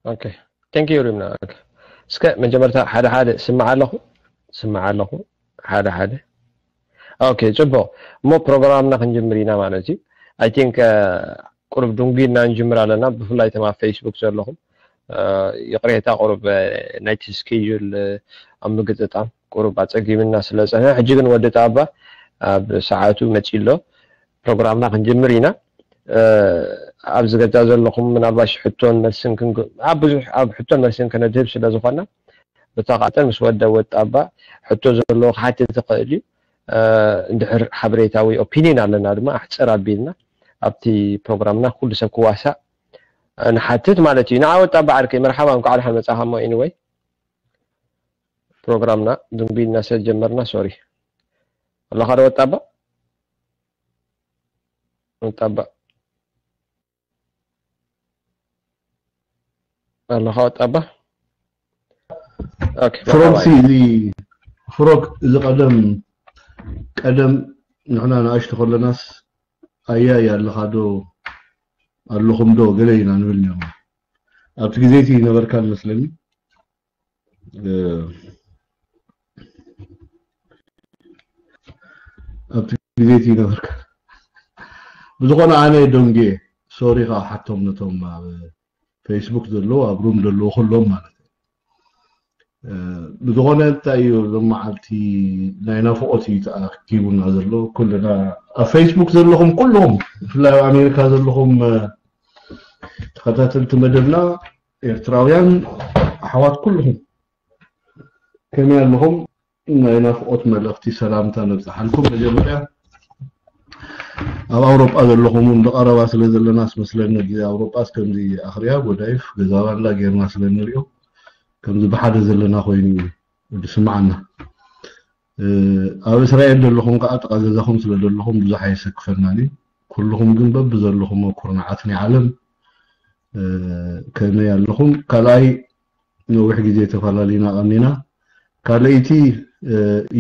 Okay, thank you ሪምና። Okay, እስከ መጀመርታ ሓደ ሓደ ስማዕ ኣለኹ፣ ስማዕ ኣለኹ ሓደ ሓደ። Okay, ጽቡቕ። እሞ ፕሮግራምና ክንጅምር ኢና ማለት እዩ። I think ቁሩብ ድንጉይና ንጅምር ኣለና፣ ብፍላይ እቶም ኣብ Facebook ዘለኹም። ይቕሬታ፣ ቁሩብ ናይቲ schedule ኣብ ምግጥጣም ቁሩብ ኣጸጊምና ስለ ጸንሐ፣ ሕጂ ግን ወዲ ጣባ ኣብ ሰዓቱ መጺ ኣሎ። ፕሮግራምና ክንጅምር ኢና። ኣብዚ ገዛ ዘለኹም ምናልባሽ ሕቶን መልስን ኣብ ብዙሕ ኣብ ሕቶን መልስን ከነድህብ ስለ ዝኾና፣ ብተቓጠል ምስ ወደ ወጣባ ሕቶ ዘለዎ ክሓትት ትኽእል እዩ። እንድሕር ሓበሬታ ወይ ኦፒኒን ኣለና ድማ ኣሕፅር ኣቢልና ኣብቲ ፕሮግራምና ኩሉ ሰብ ክዋሳእ ንሓትት ማለት እዩ። ንዓ ወጣባ ዓርከይ፣ መርሓባ፣ እንኳዕ ደሓን መጻኻ። እሞ anyway፣ ፕሮግራምና ድንጉይና ስለ ጀመርና ሶሪ። ኣለኻ ዶ ወጣባ? ወጣባ ኣለኻ ወጣባ? Okay፣ ፍሮም ሲ እዚ ፍሮክ እዚ ቀደም ቀደም ንሕና ንኣሽቱ ከለናስ ኣያይ ኣለኻ ዶ ኣለኹም ዶ ገለ ኢና ንብል ነርና። ኣብቲ ግዜ እቲ ነበርካ መስለኒ። ኣብቲ ግዜ እቲ ነበርካ። ብዝኾነ ኣነ ደንጌ ሶሪ ከዓ ሓቶም ነቶም ኣብ ፌስቡክ ዘለዉ ኣብ ሩም ዘለዉ ኩሎም ማለት እዩ። ብዝኾነ እንታይ እዩ ሎም መዓልቲ ናይ ናፍቆት እዩ ተኣኪቡና ዘሎ። ኩልና ኣብ ፌስቡክ ዘለኹም ኩልኹም፣ ብፍላይ ኣብ ኣሜሪካ ዘለኹም ተኸታተልቲ መደብና ኤርትራውያን ኣሕዋት ኩልኹም ከመይ ኣለኹም? ናይ ናፍቆት መልእኽቲ ሰላምታ ነብጽሓልኩም። መጀመርያ ኣብ ኣውሮጳ ዘለኹም እውን ብቐረባ ስለ ዘለና ኣስመስለኒ፣ ግዜ ኣውሮጳስ ከምዚ ኣኽርያ፣ ጎዳይፍ፣ ገዛ ባንዳ ጌርና ስለ ንሪኦ ከምዚ ብሓደ ዘለና ኮይኑ እዩ ዝስምዓና። ኣብ እስራኤል ዘለኹም ከዓ ጥቓ ገዛኹም ስለ ዘለኹም ብዙሕ ኣየሰክፈናን እዩ። ኩልኹም ግን በብዘለኹም ኩርናዓት ናይ ዓለም ከመይ ኣለኹም? ካልኣይ ነዊሕ ግዜ ተፈላሊና ቀኒና። ካልኣይቲ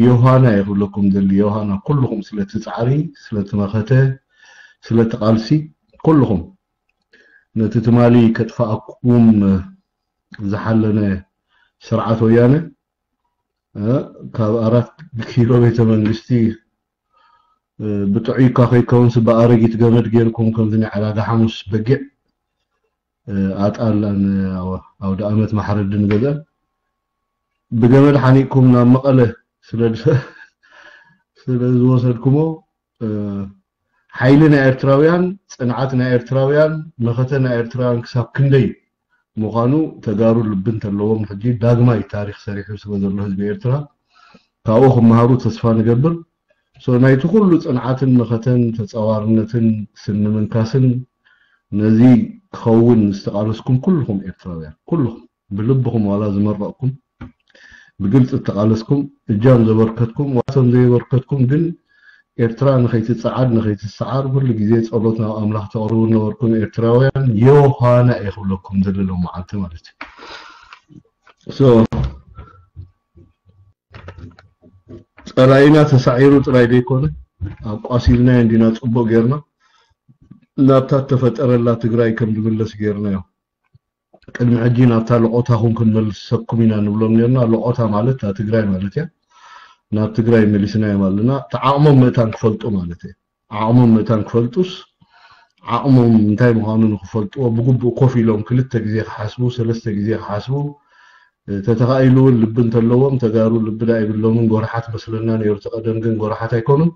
ዮሃና እየ ክብለኩም ደሊ፣ ዮሃና ኩልኹም ስለቲ ጻዕሪ፣ ስለቲ መኸተ፣ ስለቲ ቃልሲ ኩልኹም ነቲ ትማሊ ከጥፋኣኩም ዝሓለነ ስርዓት ወያነ ካብ ኣራት ኪሎ ቤተ መንግስቲ ብጥዑይካ ከይከውንስ ብኣረጊት ገመድ ጌርኩም ከምዚ ናይ ዕዳጋ ሓሙስ በጊዕ ኣጣላን ኣውደ ኣመት ማሕረድን ገዛን ብገመድ ሓኒቅኩም ናብ መቐለ ስለ ዝወሰድኩሞ ሓይሊ ናይ ኤርትራውያን፣ ጽንዓት ናይ ኤርትራውያን፣ መኸተ ናይ ኤርትራውያን ክሳብ ክንደይ ምዃኑ ተጋሩ ልቢ እንተለዎም ሕጂ ዳግማይ ታሪኽ ሰሪሑ ስለ ዘሎ ህዝቢ ኤርትራ ካብኡ ክመሃሩ ተስፋ ንገብር። ሶ ናይቲ ኩሉ ጽንዓትን መኸተን ተጻዋርነትን ስኒ ምንካስን ነዚ ክኸውን ዝተቓለስኩም ኩልኹም ኤርትራውያን፣ ኩልኹም ብልብኹም ዋላ ዝመረቕኩም ብግልጺ እተቓለስኩም፣ እጃም ዘበርከትኩም ዋቶም ዘየበርከትኩም ግን ኤርትራ ንኸይትጸዓድ ንኸይትሰዓር ኩሉ ግዜ ጸሎት ናብ ኣምላኽ ተቕርቡ ነበርኩም ኤርትራውያን። ዮሃና እየ ክብለኩም ዘለሎም መዓልቲ ማለት እዩ። ሶ ጸላኢና ተሳዒሩ ጥራይ ዘይኮነ ኣቋሲልናዮ እንዲና ጽቡቕ ጌርና ናብታ ተፈጠረላ ትግራይ ከም ዝምለስ ጌርናዮ። ቅድሚ ሕጂ ናብታ ለቆታኹም ክንመልሰኩም ኢና ንብሎም ነርና። ለቆታ ማለት እታ ትግራይ ማለት እያ። ናብ ትግራይ መሊስናዮም ኣለና። እቲ ዓቕሞም ምእታን ክፈልጡ ማለት እየ። ዓቕሞም ምእታን ክፈልጡስ ዓቕሞም እንታይ ምዃኑ ንክፈልጥዎ ብግቡእ ኮፍ ኢሎም ክልተ ግዜ ክሓስቡ፣ ሰለስተ ግዜ ክሓስቡ፣ ተተኻኢሉ እውን ልቢ እንተለዎም ተጋሩ ልቢ ዳ ይብሎምን ጎርሓት መስለና ነይሩ። እቲ ቀደም ግን ጎርሓት ኣይኮኑን።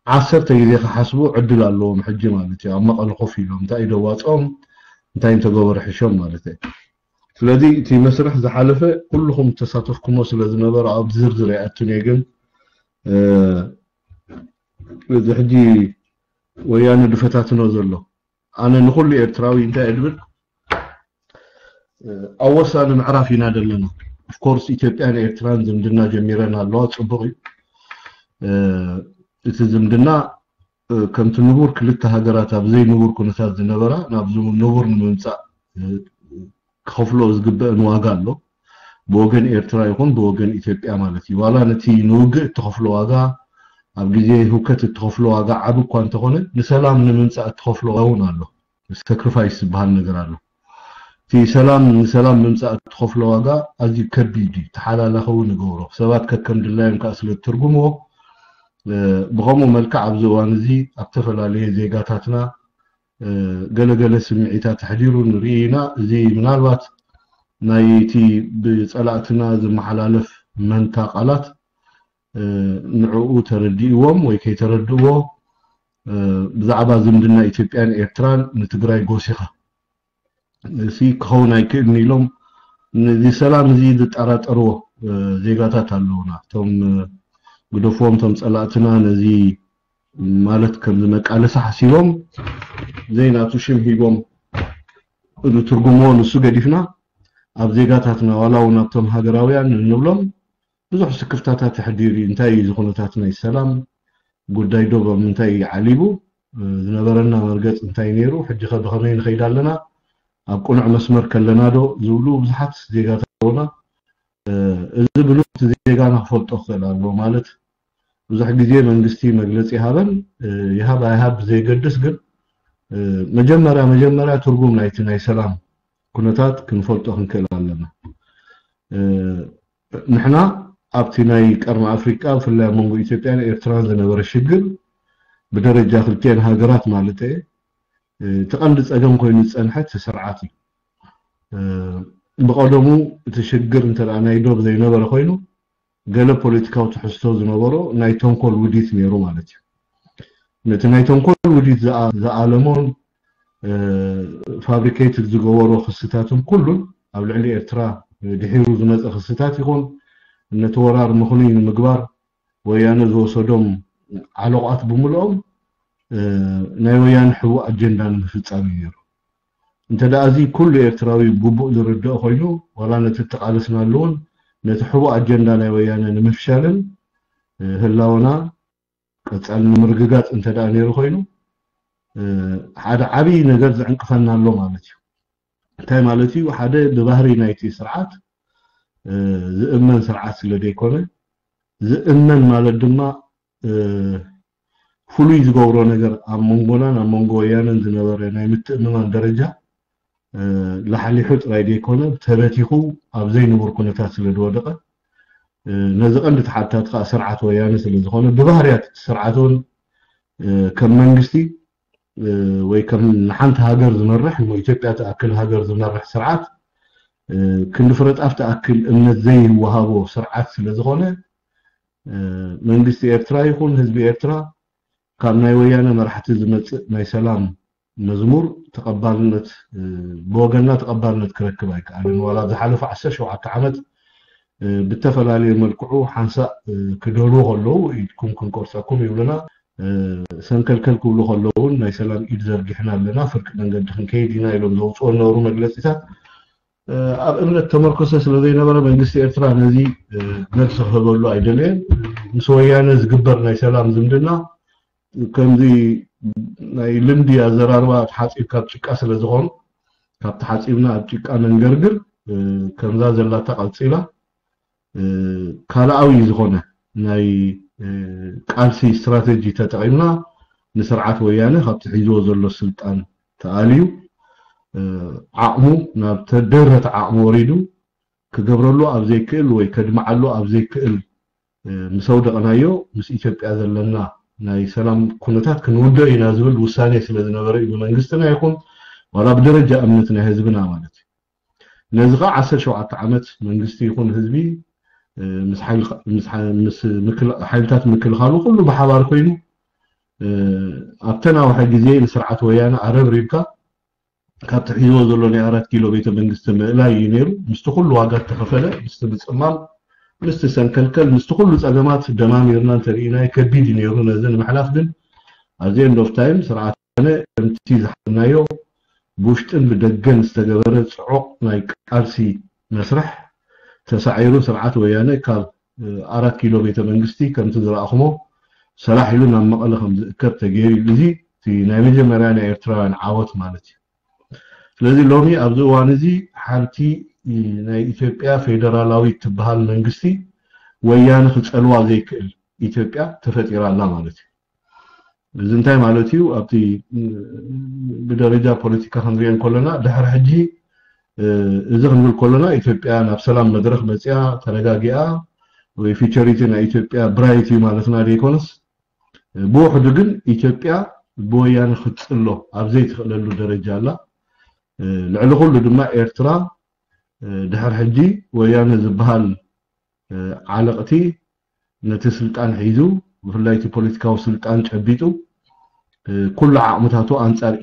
ዓሰርተ ግዜ ክሓስቡ ዕድል ኣለዎም ሕጂ ማለት እዩ። ኣብ መቐለ ኮፍ ኢሎም እንታይ እዩ ደዋፅኦም እንታይ እንተገበሩ ሕሾም ማለት እዩ። ስለዚ እቲ መስርሕ ዝሓለፈ ኩልኹም ተሳተፍኩሞ ስለ ዝነበረ ኣብ ዝርዝር ኣይኣቱን እየ። ግን እዚ ሕጂ ወያነ ድፈታትኖ ዘሎ ኣነ ንኹሉ ኤርትራዊ እንታይ እድብል ኣብ ወሳኒ ምዕራፍ ኢና ዘለና። ኦፍኮርስ ኢትዮጵያን ኤርትራን ዝምድና ጀሚረን ኣለዋ፣ ጽቡቕ እዩ። እቲ ዝምድና ከምቲ ንቡር ክልተ ሃገራት ኣብ ዘይንቡር ኩነታት ዝነበራ ናብ ንቡር ንምምጻእ ክኸፍሎ ዝግበአን ዋጋ ኣሎ። ብወገን ኤርትራ ይኹን ብወገን ኢትዮጵያ ማለት እዩ። ዋላ ነቲ ንውግእ እትኸፍሎ ዋጋ፣ ኣብ ግዜ ህውከት እትኸፍሎ ዋጋ ዓቢ እኳ እንተኾነ ንሰላም ንምምጻእ እትኸፍሎ ዋጋ እውን ኣሎ። ሳክሪፋይስ ዝበሃል ነገር ኣሎ። እቲ ሰላም ንሰላም ምምፃእ እትኸፍሎ ዋጋ ኣዝዩ ከቢድ እዩ። ተሓላላኸ እውን ንገብሮ ሰባት ከከም ድላዮም ከዓ ስለ ትርጉምዎ ብኸምኡ መልክዕ ኣብዚ እዋን እዚ ኣብ ዝተፈላለየ ዜጋታትና ገለገለ ስምዒታት ኣሕዲሩ ንርኢ ኢና። እዚ ምናልባት ናይቲ ብፀላእትና ዝመሓላለፍ መንታ ቃላት ንዕኡ ተረዲእዎም ወይ ከይተረድእዎ ብዛዕባ ዝምድና ኢትዮጵያን ኤርትራን ንትግራይ ጎሲኻ እዚ ክኸውን ኣይክእልን ኢሎም ነዚ ሰላም እዚ ዝጠራጠርዎ ዜጋታት ኣለውና። እቶም ግደፍዎም እቶም ፀላእትና ነዚ ማለት ከምዚ መቃለሲ ሓሲቦም ዘይናቱ ሽም ሂቦም ዝትርጉምዎ ንሱ ገዲፍና ኣብ ዜጋታትና ዋላ እውን ኣብቶም ሃገራውያን እንብሎም ብዙሕ ስክፍታታት የሕዲር እዩ። እንታይ እዩ እዚ ኩነታት ናይ ሰላም ጉዳይ ዶ ኣብ ምንታይ እዩ ዓሊቡ? ዝነበረና መርገፅ እንታይ ነይሩ? ሕጂ ከ ብኸመይ ንኸይድ ኣለና? ኣብ ቅኑዕ መስመር ከለና ዶ ዝብሉ ብዙሓት ዜጋታት ኣለውና። እዚ ብሉት ዜጋና ክፈልጦ ክኽእል ኣለዎ። ማለት ብዙሕ ግዜ መንግስቲ መግለፂ ይሃበን ይሃብ ኣይሃብ ብዘይገድስ ግን መጀመርያ መጀመርያ ትርጉም ናይቲ ናይ ሰላም ኩነታት ክንፈልጦ ክንክእል ኣለና። ንሕና ኣብቲ ናይ ቀርኒ ኣፍሪቃ ብፍላይ ኣብ መንጎ ኢትዮጵያን ኤርትራን ዝነበረ ሽግር ብደረጃ ክልቲኤን ሃገራት ማለት እየ እቲ ቀንዲ ፀገም ኮይኑ ዝፀንሐ እቲ ስርዓት እዩ። ብቐደሙ እቲ ሽግር እንተ ናይ ዶብ ዘይነበረ ኮይኑ ገለ ፖለቲካዊ ትሕዝቶ ዝነበሮ ናይ ተንኮል ውዲት ነይሩ ማለት እዩ። ነቲ ናይ ተንኮል ውዲት ዝኣለሞን ፋብሪኬትድ ዝገበሮ ክስታትን ኩሉን ኣብ ልዕሊ ኤርትራ ድሒሩ ዝመፀ ክስታት ይኹን ነቲ ወራር ምኽኑይ ንምግባር ወያነ ዝወሰዶም ዓለቋት ብምልኦም ናይ ወያነ ሕቡእ ኣጀንዳ ንምፍፃም እዩ ነይሩ። እንተ ደኣ እዚ ኩሉ ኤርትራዊ ግቡእ ዝርድኦ ኮይኑ ዋላ ነቲ እተቓለስናሉ እውን ነቲ ሕቡእ ኣጀንዳ ናይ ወያነ ንምፍሻልን ህላወና ቀጻሊ ንምርግጋጽ እንተ ደኣ ነይሩ ኮይኑ ሓደ ዓብዪ ነገር ዝዕንቅፈና ኣሎ ማለት እዩ። እንታይ ማለት እዩ? ሓደ ብባህሪ ናይቲ ስርዓት ዝእመን ስርዓት ስለ ዘይኮነ ዝእመን ማለት ድማ ፍሉይ ዝገብሮ ነገር ኣብ መንጎናን ኣብ መንጎ ወያነን ዝነበረ ናይ ምትእምማን ደረጃ ላሕሊሑ ጥራይ ዘይኮነ ተበቲኹ ኣብ ዘይንቡር ኩነታት ስለ ዝወደቐ ነዚ ቀንዲ ተሓታቲ ከዓ ስርዓት ወያነ ስለ ዝኾነ ብባህርያት እቲ ስርዓት እውን ከም መንግስቲ ወይ ከም ንሓንቲ ሃገር ዝመርሕ እሞ ኢትዮጵያ ትኣክል ሃገር ዝመርሕ ስርዓት ክንዲ ፍረጣፍ ትኣክል እምነት ዘይወሃቦ ስርዓት ስለ ዝኾነ መንግስቲ ኤርትራ ይኹን ህዝቢ ኤርትራ ካብ ናይ ወያነ መራሕቲ ዝመፅእ ናይ ሰላም መዝሙር ተቐባልነት ብወገንና ተቐባልነት ክረክብ ኣይከኣልን። ዋላ ዝሓለፈ ዓሰርተ ሸውዓተ ዓመት ብተፈላለየ መልክዑ ሓንሳእ ክደልዎ ከለዉ ኢድኩም ክንቆርፀኩም ይብሉና፣ ሰንከልከል ክብሉ ከለዉ እውን ናይ ሰላም ኢድ ዘርጊሕና ኣለና፣ ፍርቂ መንገዲ ክንከይድ ኢና ኢሎም ዘውፅኦ ዝነበሩ መግለፂታት ኣብ እምነት ተመርኮሰ ስለ ዘይነበረ መንግስቲ ኤርትራ ነዚ መልሲ ክህበሉ ኣይደለየን። ምስ ወያነ ዝግበር ናይ ሰላም ዝምድና ከምዚ ናይ ልምዲ ኣዘራርባ ተሓፂብ ካብ ጭቃ ስለ ዝኾኑ ካብ ተሓፂብና ኣብ ጭቃ ነንገርግር ከምዛ ዘላታ ቀፂላ ካልኣዊ ዝኾነ ናይ ቃልሲ ስትራተጂ ተጠቒምና ንስርዓት ወያነ ካብቲ ሒዝዎ ዘሎ ስልጣን ተኣልዩ ዓቕሙ ናብ ተደረተ ዓቕሚ ወሪዱ ክገብረሉ ኣብ ዘይክእል ወይ ከድምዓሉ ኣብ ዘይክእል ምስ ኣውደቕናዮ ምስ ኢትዮጵያ ዘለና ናይ ሰላም ኩነታት ክንውድኦ ኢና ዝብል ውሳኔ ስለ ዝነበረ እዩ ብመንግስትና ይኹን ዋላ ብደረጃ እምነት ናይ ህዝብና ማለት እዩ። ነዚ ከዓ ዓሰርተ ሸውዓተ ዓመት መንግስቲ ይኹን ህዝቢ ምስ ሓይልታት ምክልኻሉ ኩሉ ብሓባር ኮይኑ ኣብተ ናውሐ ግዜ ንስርዓት ወያነ ኣረብሪብካ ካብቲ ሒዝዎ ዘሎ ናይ ኣራት ኪሎ ቤተ መንግስቲ ምእላይ እዩ ነይሩ። ምስቲ ኩሉ ዋጋ እተኸፈለ ምስቲ ምፅማም ምስቲ ሰንከልከል ምስቲ ኩሉ ፀገማት ደማሚርና እንተርኢናዮ ከቢድ እዩ ነይሩ። ነዚ ንምሕላፍ ግን ኣብዚ end of time ስርዓት ወያነ ከምቲ ዝሓልናዮ ብውሽጥን ብደገን ዝተገበረ ፅዑቕ ናይ ቃልሲ መስርሕ ተሳዒሩ ስርዓት ወያነ ካብ ኣራት ኪሎ ቤተ መንግስቲ ከምቲ ዝረኣኹሞ ሰላሕ ኢሉ ናብ መቐለ ከም ዝእከብ ተገይሩ እዩ። እዚ እቲ ናይ መጀመርያ ናይ ኤርትራውያን ዓወት ማለት እዩ። ስለዚ ሎሚ ኣብዚ እዋን እዚ ሓንቲ ናይ ኢትዮጵያ ፌደራላዊት ትበሃል መንግስቲ ወያነ ክፀልዋ ዘይክእል ኢትዮጵያ ተፈጢራ ኣላ ማለት እዩ። እዚ እንታይ ማለት እዩ? ኣብቲ ብደረጃ ፖለቲካ ክንሪኦ እንከለና ድሕሪ ሕጂ እዚ ክንብል ከለና ኢትዮጵያ ናብ ሰላም መድረኽ መፅያ ተረጋጊኣ ወይ ፊቸሪቲ ናይ ኢትዮጵያ ብራይት እዩ ማለትና ዘይኮነስ፣ ብውሕዱ ግን ኢትዮጵያ ብወያነ ክትፅሎ ኣብ ዘይትኽእለሉ ደረጃ ኣላ። ልዕሊ ኩሉ ድማ ኤርትራ ድሕር ሕጂ ወያነ ዝበሃል ዓለቕቲ ነቲ ስልጣን ሒዙ፣ ብፍላይ እቲ ፖለቲካዊ ስልጣን ጨቢጡ፣ ኩሉ ዓቕምታቱ ኣንጻር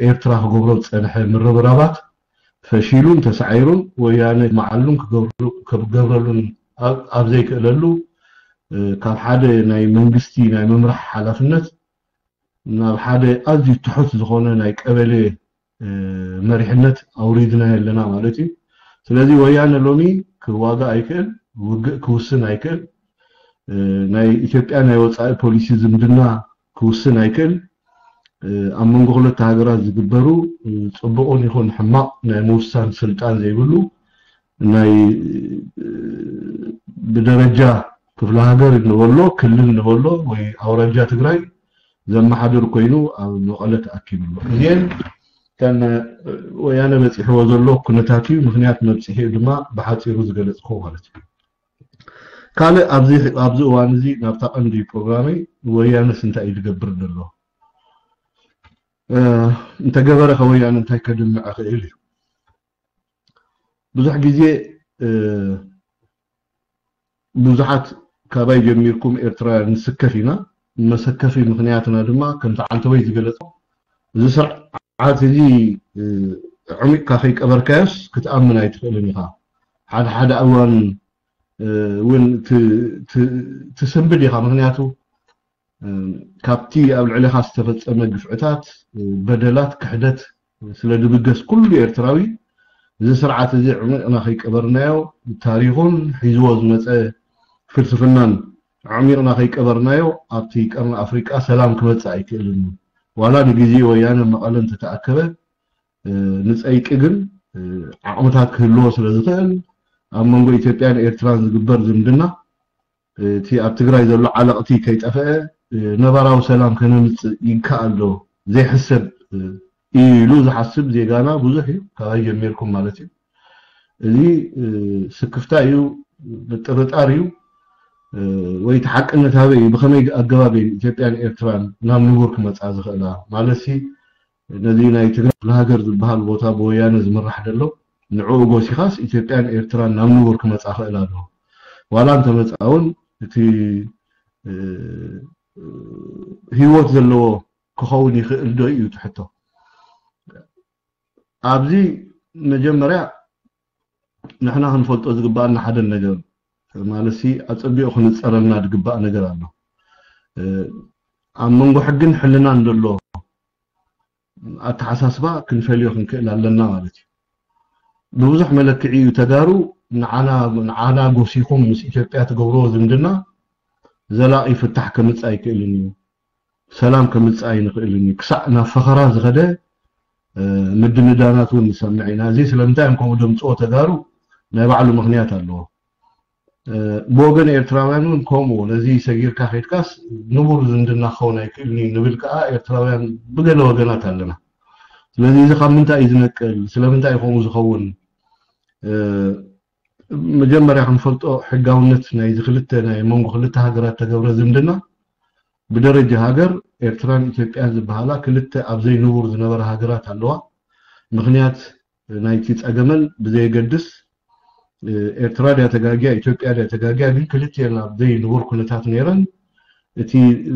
ኤርትራ ክገብሮ ዝጸንሐ ምርብራባት ፈሺሉን ተሳዒሩን፣ ወያነ መዓሉን ክገብረሉን ኣብ ዘይክእለሉ፣ ካብ ሓደ ናይ መንግስቲ ናይ ምምራሕ ሓላፍነት ናብ ሓደ ኣዝዩ ትሑት ዝኾነ ናይ ቀበሌ መሪሕነት ኣውሪድናዮ ኣለና ማለት እዩ። ስለዚ ወያነ ሎሚ ክዋጋእ ኣይክእል፣ ውግእ ክውስን ኣይክእል፣ ናይ ኢትዮጵያ ናይ ወፃኢ ፖሊሲ ዝምድና ክውስን ኣይክእል። ኣብ መንጎ ክልተ ሃገራት ዝግበሩ ፅቡቕን ይኹን ሕማቕ ናይ ምውሳን ስልጣን ዘይብሉ፣ ናይ ብደረጃ ክፍለ ሃገር ንበሎ፣ ክልል ንበሎ ወይ ኣውራጃ ትግራይ ዘመሓድር ኮይኑ ኣብ መቐለ ተኣኪቡ ኣሎ። እዚአን እተን ወያነ በፂሕዎ ዘሎ ኩነታት እዩ። ምክንያት መብፅሒኡ ድማ ብሓፂሩ ዝገለፅኩ ማለት እዩ። ካልእ ኣብዚ እዋን እዚ ናብታ ቀንዲ ፕሮግራመይ፣ ወያነስ እንታይ እዩ ዝገብር ዘሎ? እንተገበረ ከ ወያነ እንታይ ከድምዕ ክእል እዩ? ብዙሕ ግዜ ብዙሓት ካባይ ጀሚርኩም ኤርትራውያን ንስከፍ ኢና። መሰከፊ ምክንያትና ድማ ከምቲ ዓንተወይ ዝገለጾ፣ እዚ ስርዓት እዚ ዕሚቕካ ከይቀበርካዮስ ክትኣምን ኣይትኽእልን ኢኻ። ሓደ ሓደ እዋን እውን ትስንብድ ኢኻ። ምክንያቱ ካብቲ ኣብ ልዕሌኻ ዝተፈጸመ ግፍዕታት፣ በደላት፣ ክሕደት ስለ ዝብገስ ኩሉ ኤርትራዊ እዚ ስርዓት እዚ ዕሚቕና ከይቀበርናዮ፣ ታሪኹን ሒዝዎ ዝመጸ ፍልስፍናን ዕሚቕና ከይቀበርናዮ ኣብቲ ቀርኒ ኣፍሪቃ ሰላም ክመጽእ ኣይክእልን እዩ። ዋላ ንግዜ ወያነ መቐለ እንተተኣከበ፣ ንጸይቂ ግን ዓቕምታት ክህልዎ ስለ ዝኽእል ኣብ መንጎ ኢትዮጵያን ኤርትራን ዝግበር ዝምድና እቲ ኣብ ትግራይ ዘሎ ዓለቕቲ ከይጠፈአ ነባራዊ ሰላም ከነምፅእ ይከኣል ዶ ዘይሕሰብ እዩ ኢሉ ዝሓስብ ዜጋና ብዙሕ እዩ። ካባይ ጀሚርኩም ማለት እዩ። እዚ ስክፍታ እዩ፣ ምጥርጣር እዩ። ወይ እቲ ሓቅነት ኣበይ እዩ? ብኸመይ ኣገባብ እዩ ኢትዮጵያን ኤርትራን ናብ ንቡር ክመፃ ዝኽእላ? ማለትሲ ነዚ ናይ ትግራይ ክፍለ ሃገር ዝበሃል ቦታ ብወያነ ዝምራሕ ዘሎ ንዕኡ ጎሲኻስ ኢትዮጵያን ኤርትራን ናብ ንቡር ክመፃ ክእል ኣለዎ። ዋላ እንተመፃ እውን እቲ ህይወት ዘለዎ ክኸውን ይኽእል ዶ እዩ እቲ ሕቶ። ኣብዚ መጀመርያ ንሕና ክንፈልጦ ዝግባኣና ሓደ ነገር ማለትሲ ኣፀቢቑ ክንፀረልና ዝግባእ ነገር ኣሎ። ኣብ መንጎ ሕግን ሕልናን ዘሎ ኣተሓሳስባ ክንፈልዮ ክንክእል ኣለና ማለት እዩ። ብብዙሕ መለክዒ እዩ ተጋሩ ንዓና ጎሲኹም ምስ ኢትዮጵያ ትገብርዎ ዝምድና ዘላቒ ፍታሕ ከምፅእ ኣይክእልን እዩ፣ ሰላም ከምፅእ ኣይንኽእልን እዩ። ክሳዕ ናብ ፈኸራ ዝኸደ ምድንዳናት እውን ንሰምዕ ኢና። እዚ ስለምንታይ እዮም ከምኡ ደምፅዎ ተጋሩ ናይ ባዕሉ ምክንያት ኣለዎ። ብወገን ኤርትራውያን እውን ከምኡ፣ ነዚ ሰጊርካ ከይድካስ ንቡር ዝምድና ክኸውን ኣይክእልን እዩ ንብል ከዓ ኤርትራውያን ብገለ ወገናት ኣለና። ስለዚ እዚ ካብ ምንታይ እዩ ዝነቅል? ስለምንታይ እዩ ከምኡ ዝኸውን? መጀመርያ ክንፈልጦ ሕጋውነት ናይዚ ክልተ ናይ መንጎ ክልተ ሃገራት ተገብረ ዝምድና ብደረጃ ሃገር ኤርትራን ኢትዮጵያን ዝበሃላ ክልተ ኣብ ዘይንቡር ዝነበራ ሃገራት ኣለዋ። ምክንያት ናይቲ ጸገመን ብዘየገድስ ኤርትራ ድያ ተጋግያ ኢትዮጵያ ድያ ተጋግያ ግን ክልቲኤን ኣብ ዘይንቡር ኩነታት ነይረን። እቲ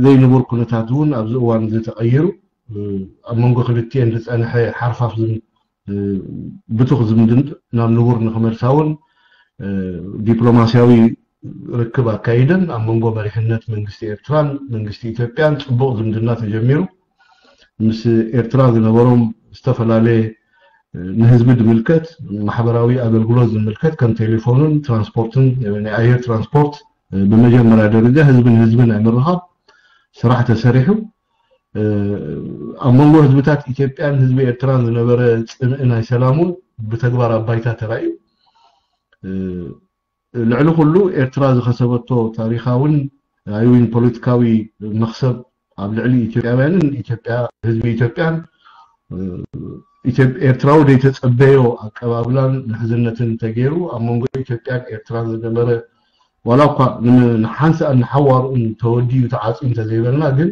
ዘይንቡር ኩነታት እውን ኣብዚ እዋን እዚ ተቐይሩ ኣብ መንጎ ክልቲኤን ዝጸንሐ ሓርፋፍ ብቱኽ ዝምድን ናብ ንቡር ንክመልሳ እውን ዲፕሎማስያዊ ርክብ ኣካይደን ኣብ መንጎ መሪሕነት መንግስቲ ኤርትራን መንግስቲ ኢትዮጵያን ጽቡቕ ዝምድና ተጀሚሩ። ምስ ኤርትራ ዝነበሮም ዝተፈላለየ ንህዝቢ ዝምልከት ማሕበራዊ ኣገልግሎት ዝምልከት ከም ቴሌፎንን ትራንስፖርትን ናይ ኣየር ትራንስፖርት ብመጀመርያ ደረጃ ህዝቢ ንህዝቢ ናይ ምርኻብ ስራሕ ተሰሪሑ። ኣብ መንጎ ህዝብታት ኢትዮጵያን ህዝቢ ኤርትራን ዝነበረ ጽምኢ ናይ ሰላም እውን ብተግባር ኣብ ባይታ ተራእዩ። ልዕሊ ኩሉ ኤርትራ ዝኸሰበቶ ታሪኻውን ኣይዊን ፖለቲካዊ መኽሰብ ኣብ ልዕሊ ኢትዮጵያውያንን ኢትዮጵያ ህዝቢ ኢትዮጵያን ኤርትራዊ ዘይተጸበዮ ኣቀባብላን ምሕዝነትን ተገይሩ ኣብ መንጎ ኢትዮጵያን ኤርትራን ዝነበረ ዋላ እኳ ንሓንሳእ ንሓዋርኡን ተወዲዩ ተዓፅዩ እንተዘይበልና ግን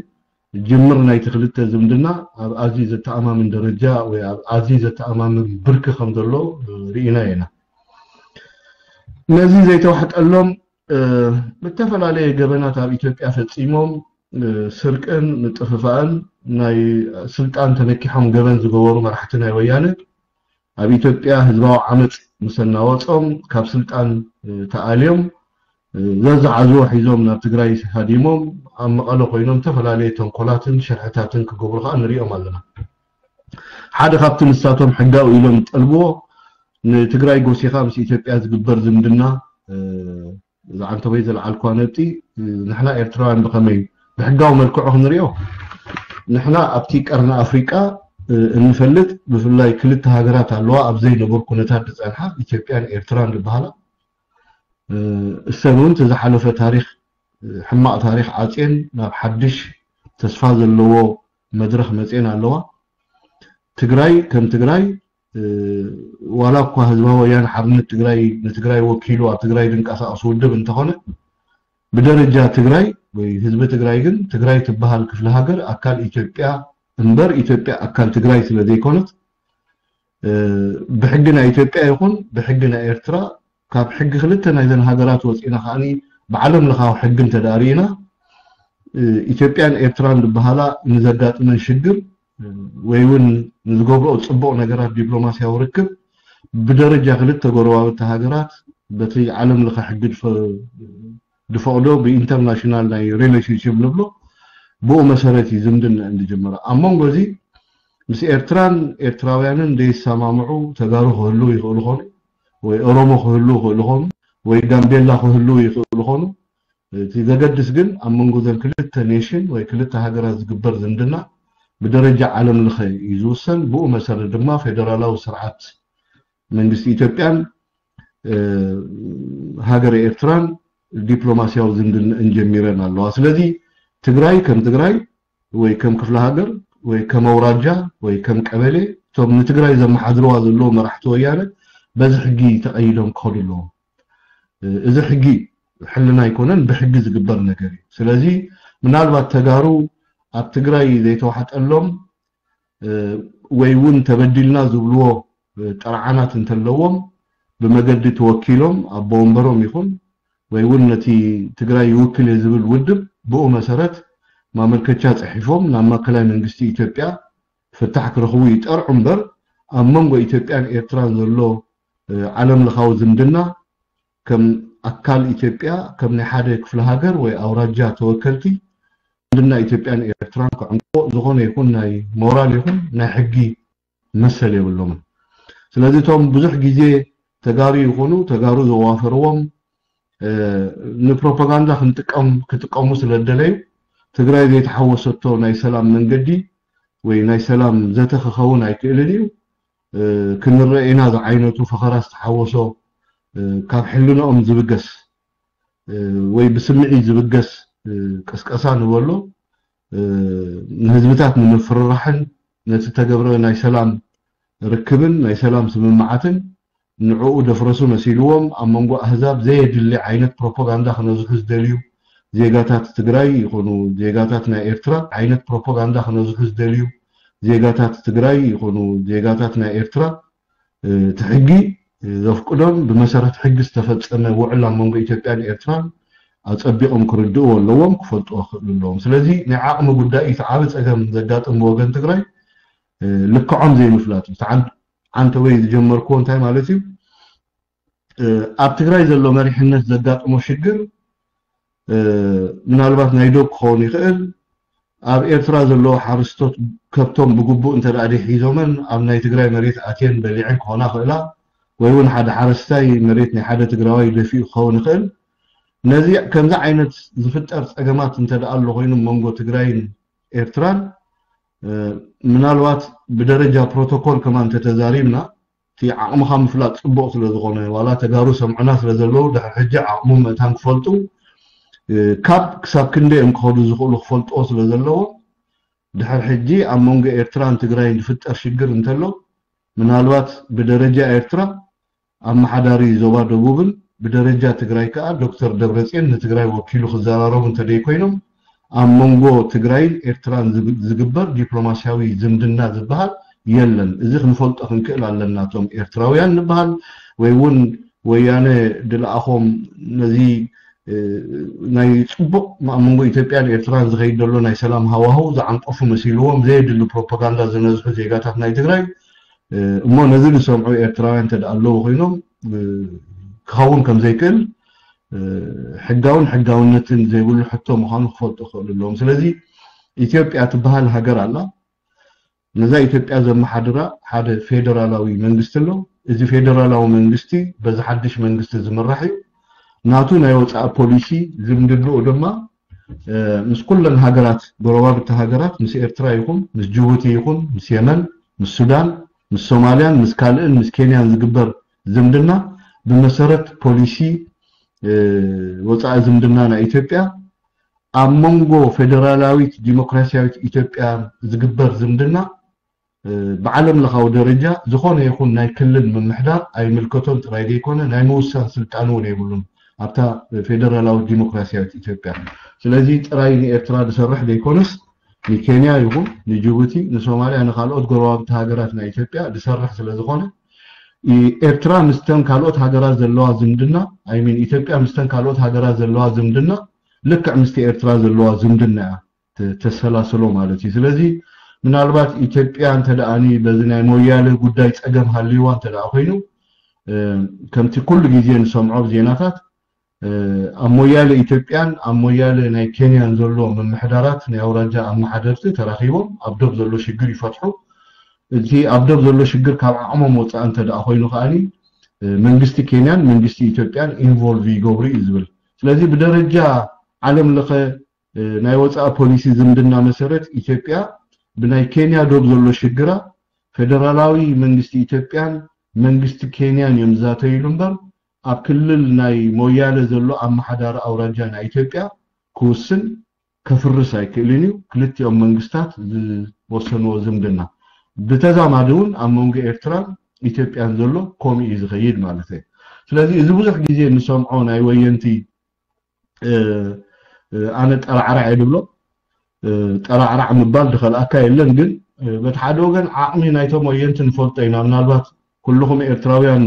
ጅምር ናይቲ ክልተ ዝምድና ኣብ ኣዝዩ ዘተኣማምን ደረጃ ወይ ኣብ ኣዝዩ ዘተኣማምን ብርኪ ከም ዘሎ ርኢና ኢና። ነዚ ዘይተዋሕጠሎም ብተፈላለየ ገበናት ኣብ ኢትዮጵያ ፈፂሞም ስርቅን ምጥፍፋእን ናይ ስልጣን ተነኪሖም ገበን ዝገበሩ መራሕቲ ናይ ወያነ ኣብ ኢትዮጵያ ህዝባዊ ዓመፅ ምስ ኣናወፆም ካብ ስልጣን ተኣልዮም ዘዝሓዝዎ ሒዞም ናብ ትግራይ ሃዲሞም ኣብ መቐለ ኮይኖም ዝተፈላለየ ተንኮላትን ሽርሕታትን ክገብሩ ከዓ ንሪኦም ኣለና። ሓደ ካብቲ ንሳቶም ሕጋዊ ኢሎም ዝጠልብዎ ንትግራይ ጎሲኻ ምስ ኢትዮጵያ ዝግበር ዝምድና እዛ ዓንተቦይ ዘልዓልኳ ነጥቢ ንሕና ኤርትራውያን ብኸመይ ብሕጋዊ መልክዑ ክንሪኦ ንሕና ኣብቲ ቀርኒ ኣፍሪቃ እንፈልጥ ብፍላይ ክልተ ሃገራት ኣለዋ ኣብ ዘይነበሩ ኩነታት ዝፀንሓ ኢትዮጵያን ኤርትራን ዝበሃላ እሰን እውን ዝሓለፈ ታሪክ ሕማቅ ታሪክ ዓፅየን ናብ ሓድሽ ተስፋ ዘለዎ መድረክ መፅየን ኣለዋ። ትግራይ ከም ትግራይ ዋላ እኳ ህዝባዊ ወያነ ሓርነት ትግራይ ንትግራይ ወኪሉ ኣብ ትግራይ ዝንቀሳቀስ ውድብ እንተኾነ ብደረጃ ትግራይ ወይ ህዝቢ ትግራይ ግን ትግራይ ትበሃል ክፍለ ሃገር ኣካል ኢትዮጵያ እምበር ኢትዮጵያ ኣካል ትግራይ ስለ ዘይኮነት ብሕጊ ናይ ኢትዮጵያ ይኹን ብሕጊ ናይ ኤርትራ ካብ ሕጊ ክልተ ናይዘን ሃገራት ወፂና ከዓኒ ብዓለም ለኻዊ ሕጊ እንተዳርኢና ኢትዮጵያን ኤርትራን ዝበሃላ ንዘጋጥመን ሽግር ወይ እውን ንዝገብረኦ ፅቡቕ ነገራት ዲፕሎማስያዊ ርክብ ብደረጃ ክልተ ጎረባብቲ ሃገራት በቲ ዓለም ለኸ ሕጊ ዝፈቕዶ ብኢንተርናሽናል ናይ ሪሌሽንሽፕ ንብሎ ብኡ መሰረት እዩ ዝምድና እንድጅምር ኣብ መንጎ እዚ ምስ ኤርትራን ኤርትራውያንን ዘይሰማምዑ ተጋሩ ክህልው ይኽእሉ ኾኑ ወይ ኦሮሞ ክህልው ይኽእሉ ኾኑ ወይ ጋምቤላ ክህልው ይኽእሉ ኾኑ እቲ ዘገድስ ግን ኣብ መንጎ ዘን ክልተ ኔሽን ወይ ክልተ ሃገራት ዝግበር ዝምድና ብደረጃ ዓለም ለኸ እዩ ዝውሰን ብኡ መሰረት ድማ ፌደራላዊ ስርዓት መንግስቲ ኢትዮጵያን ሃገረ ኤርትራን ዲፕሎማስያዊ ዝምድንእን ጀሚረን ኣለዋ ስለዚ ትግራይ ከም ትግራይ ወይ ከም ክፍለ ሃገር ወይ ከም ኣውራጃ ወይ ከም ቀበሌ እቶም ንትግራይ ዘመሓድርዋ ዘለዉ መራሕቲ ወያነ በዚ ሕጊ ተቐይዶም ክኸዱ ኣለዎም እዚ ሕጊ ሕልና ኣይኮነን ብሕጊ ዝግበር ነገር እዩ ስለዚ ምናልባት ተጋሩ ኣብ ትግራይ ዘይተዋሕጠሎም ወይ እውን ተበዲልና ዝብልዎ ጥርዓናት እንተለዎም ብመገዲ ተወኪሎም ኣቦ ወንበሮም ይኹን ወይ እውን ነቲ ትግራይ ይውክል እየ ዝብል ውድብ ብኡ መሰረት ማመልከቻ ፅሒፎም ናብ ማእከላይ መንግስቲ ኢትዮጵያ ፍታሕ ክረኽቡ ይጠርዑ እምበር ኣብ መንጎ ኢትዮጵያን ኤርትራን ዘሎ ዓለም ለኻዊ ዝምድና ከም ኣካል ኢትዮጵያ ከም ናይ ሓደ ክፍለ ሃገር ወይ ኣውራጃ ተወከልቲ ዝምድና ኢትዮጵያን ኤርትራን ክዕምቆ ዝኾነ ይኹን ናይ ሞራል ይኹን ናይ ሕጊ መሰል የብሎምን። ስለዚ እቶም ብዙሕ ግዜ ተጋሩ ይኹኑ ተጋሩ ዘዋፈርዎም ንፕሮፓጋንዳ ክንጥቀም ክጥቀሙ ስለ ዝደለዩ ትግራይ ዘይተሓወሰቶ ናይ ሰላም መንገዲ ወይ ናይ ሰላም ዘተ ክኸውን ኣይክእልን እዩ። ክንረኤና ዝዓይነቱ ፈኸራ ዝተሓወሶ ካብ ሕልንኦም ዝብገስ ወይ ብስምዒት ዝብገስ ቅስቀሳ ንበሎ ንህዝብታት ንምፍርራሕን ነቲ ተገብረ ናይ ሰላም ርክብን ናይ ሰላም ስምምዓትን ንዕኡ ደፍረሱ መሲልዎም ኣብ መንጎ ኣህዛብ ዘየድሊ ዓይነት ፕሮፓጋንዳ ክነዝሑ ዝደልዩ ዜጋታት ትግራይ ይኹኑ ዜጋታት ናይ ኤርትራ ዓይነት ፕሮፓጋንዳ ክነዝሑ ዝደልዩ ዜጋታት ትግራይ ይኹኑ ዜጋታት ናይ ኤርትራ እቲ ሕጊ ዘፍቅዶን ብመሰረት ሕጊ ዝተፈፀመ ውዕል ኣብ መንጎ ኢትዮጵያን ኤርትራን ኣፀቢቖም ክርድእዎ ኣለዎም ክፈልጥዎ ክኽእሉ ኣለዎም ስለዚ ናይ ዓቕሚ ጉዳይ እቲ ዓብ ፀገም ዘጋጥም ወገን ትግራይ ልክዖም ዘይምፍላጥ እዩ ዓንተ ወይ ዝጀመርክዎ እንታይ ማለት እዩ ኣብ ትግራይ ዘሎ መሪሕነት ዘጋጥሞ ሽግር ምናልባት ናይ ዶብ ክኸውን ይኽእል ኣብ ኤርትራ ዘለዉ ሓረስቶት ከብቶም ብግቡእ እንተ ደኣ ደይ ሒዞመን ኣብ ናይ ትግራይ መሬት ኣትየን በሊዐን ክኾና ክእላ ወይ እውን ሓደ ሓረስታይ መሬት ናይ ሓደ ትግራዋይ ደፊኡ ክኸውን ይኽእል ነዚ ከምዚ ዓይነት ዝፍጠር ፀገማት እንተ ደኣ ኣሎ ኮይኑ መንጎ ትግራይን ኤርትራን ምናልባት ብደረጃ ፕሮቶኮል ከማን ተተዛሪብና እቲ ዓቕምኻ ምፍላጥ ፅቡቕ ስለ ዝኾነ ዋላ ተጋሩ ሰምዑና ስለ ዘለዉ ድሕሪ ሕጂ ዓቕሞም መእታን ክፈልጡ ካብ ክሳብ ክንደይ እዮም ክኸዱ ዝኽእሉ ክፈልጥዎ ስለ ዘለዎም ድሕር ሕጂ ኣብ መንጎ ኤርትራን ትግራይን ዝፍጠር ሽግር እንተሎ፣ ምናልባት ብደረጃ ኤርትራ ኣመሓዳሪ ዞባ ደቡብን ብደረጃ ትግራይ ከኣ ዶክተር ደብረጽዮን ንትግራይ ወኪሉ ክዘራረቡ እንተደይ ኮይኖም፣ ኣብ መንጎ ትግራይን ኤርትራን ዝግ- ዝግበር ዲፕሎማስያዊ ዝምድና ዝበሃል የለን። እዚ ክንፈልጦ ክንክእል ኣለና። እቶም ኤርትራውያን ንበሃል ወይ እውን ወያነ ድልኣኾም ነዚ ናይ ጽቡቕ ኣብ መንጎ ኢትዮጵያን ኤርትራን ዝኸይድ ዘሎ ናይ ሰላም ሃዋህው ዝዓንቀፉ መሲልዎም ዘየድሊ ፕሮፓጋንዳ ዝነዝሑ ዜጋታት ናይ ትግራይ፣ እሞ ነዚ ዝሰምዑ ኤርትራውያን እንተ ኣለዉ ኮይኖም፣ ክኸውን ከም ዘይክእል ሕጋውን ሕጋውነትን ዘይብሉ ሕቶ ምዃኑ ክፈልጡ ክኽእሉ ኣለዎም። ስለዚ ኢትዮጵያ ትበሃል ሃገር ኣላ። ነዛ ኢትዮጵያ ዘመሓድራ ሓደ ፌደራላዊ መንግስቲ ኣሎ። እዚ ፌደራላዊ መንግስቲ በዚ ሓድሽ መንግስቲ ዝምራሕ እዩ። ናቱ ናይ ወፃኢ ፖሊሲ ዝምድንኡ ድማ ምስ ኩለን ሃገራት፣ ጎረባብቲ ሃገራት፣ ምስ ኤርትራ ይኹን ምስ ጅቡቲ ይኹን ምስ የመን፣ ምስ ሱዳን፣ ምስ ሶማልያን ምስ ካልእን፣ ምስ ኬንያን ዝግበር ዝምድና ብመሰረት ፖሊሲ ወፃኢ ዝምድና ናይ ኢትዮጵያ ኣብ መንጎ ፌደራላዊት ዲሞክራሲያዊት ኢትዮጵያ ዝግበር ዝምድና ብዓለም ለኻዊ ደረጃ ዝኾነ ይኹን ናይ ክልል ምምሕዳር ኣይምልከቶን ጥራይ ዘይኮነ ናይ ምውሳን ስልጣን እውን የብሉን ኣብታ ፌደራላዊት ዲሞክራሲያዊት ኢትዮጵያ። ስለዚ ጥራይ ንኤርትራ ዝሰርሕ ዘይኮነስ ንኬንያ ይኹን ንጅቡቲ፣ ንሶማልያ፣ ንካልኦት ጎረባብቲ ሃገራት ናይ ኢትዮጵያ ዝሰርሕ ስለዝኾነ ኤርትራ ምስተን ካልኦት ሃገራት ዘለዋ ዝምድና፣ I mean ኢትዮጵያ ምስተን ካልኦት ሃገራት ዘለዋ ዝምድና ልክዕ ምስቲ ኤርትራ ዘለዋ ዝምድና እያ ተሰላስሎ ማለት እዩ። ስለዚ ምናልባት ኢትዮጵያ እንተ ደኣኒ በዚ ናይ ሞያለ ጉዳይ ጸገም ሃልይዋ እንተ ደኣ ኮይኑ፣ ከምቲ ኩሉ ግዜ ንሰምዖ ኣብ ዜናታት፣ ኣብ ሞያለ ኢትዮጵያን ኣብ ሞያለ ናይ ኬንያን ዘሎ ምምሕዳራት ናይ ኣውራጃ ኣመሓደርቲ ተራኺቦም ኣብ ዶብ ዘሎ ሽግር ይፈትሑ። እቲ ኣብ ዶብ ዘሎ ሽግር ካብ ዓቕሞም ወፃኢ እንተ ደኣ ኮይኑ ከኣኒ መንግስቲ ኬንያን መንግስቲ ኢትዮጵያን ኢንቮልቭ ይገብሩ እዩ ዝብል። ስለዚ ብደረጃ ዓለም ለኸ ናይ ወፃኢ ፖሊሲ ዝምድና መሰረት ኢትዮጵያ ብናይ ኬንያ ዶብ ዘሎ ሽግራ ፌደራላዊ መንግስቲ ኢትዮጵያን መንግስቲ ኬንያን እዮም ዝዛተይሉ እምበር ኣብ ክልል ናይ ሞያለ ዘሎ ኣመሓዳሪ ኣውራጃ ናይ ኢትዮጵያ ክውስን ከፍርስ ኣይክእልን እዩ። ክልቲኦም መንግስታት ዝወሰንዎ ዝምድና ብተዛማዲ እውን ኣብ መንጎ ኤርትራን ኢትዮጵያን ዘሎ ከምኡ እዩ ዝኸይድ ማለት እዩ። ስለዚ እዚ ብዙሕ ግዜ እንሰምዖ ናይ ወየንቲ ኣነ ጠራዕራዕ እየ ዝብሎ። ጠራዕራዕ ምባል ዝኸልኣካ የለን፣ ግን በቲ ሓደ ወገን ዓቕሚ ናይቶም ወየንቲ ንፈልጦ ኢና። ምናልባት ኩልኹም ኤርትራውያን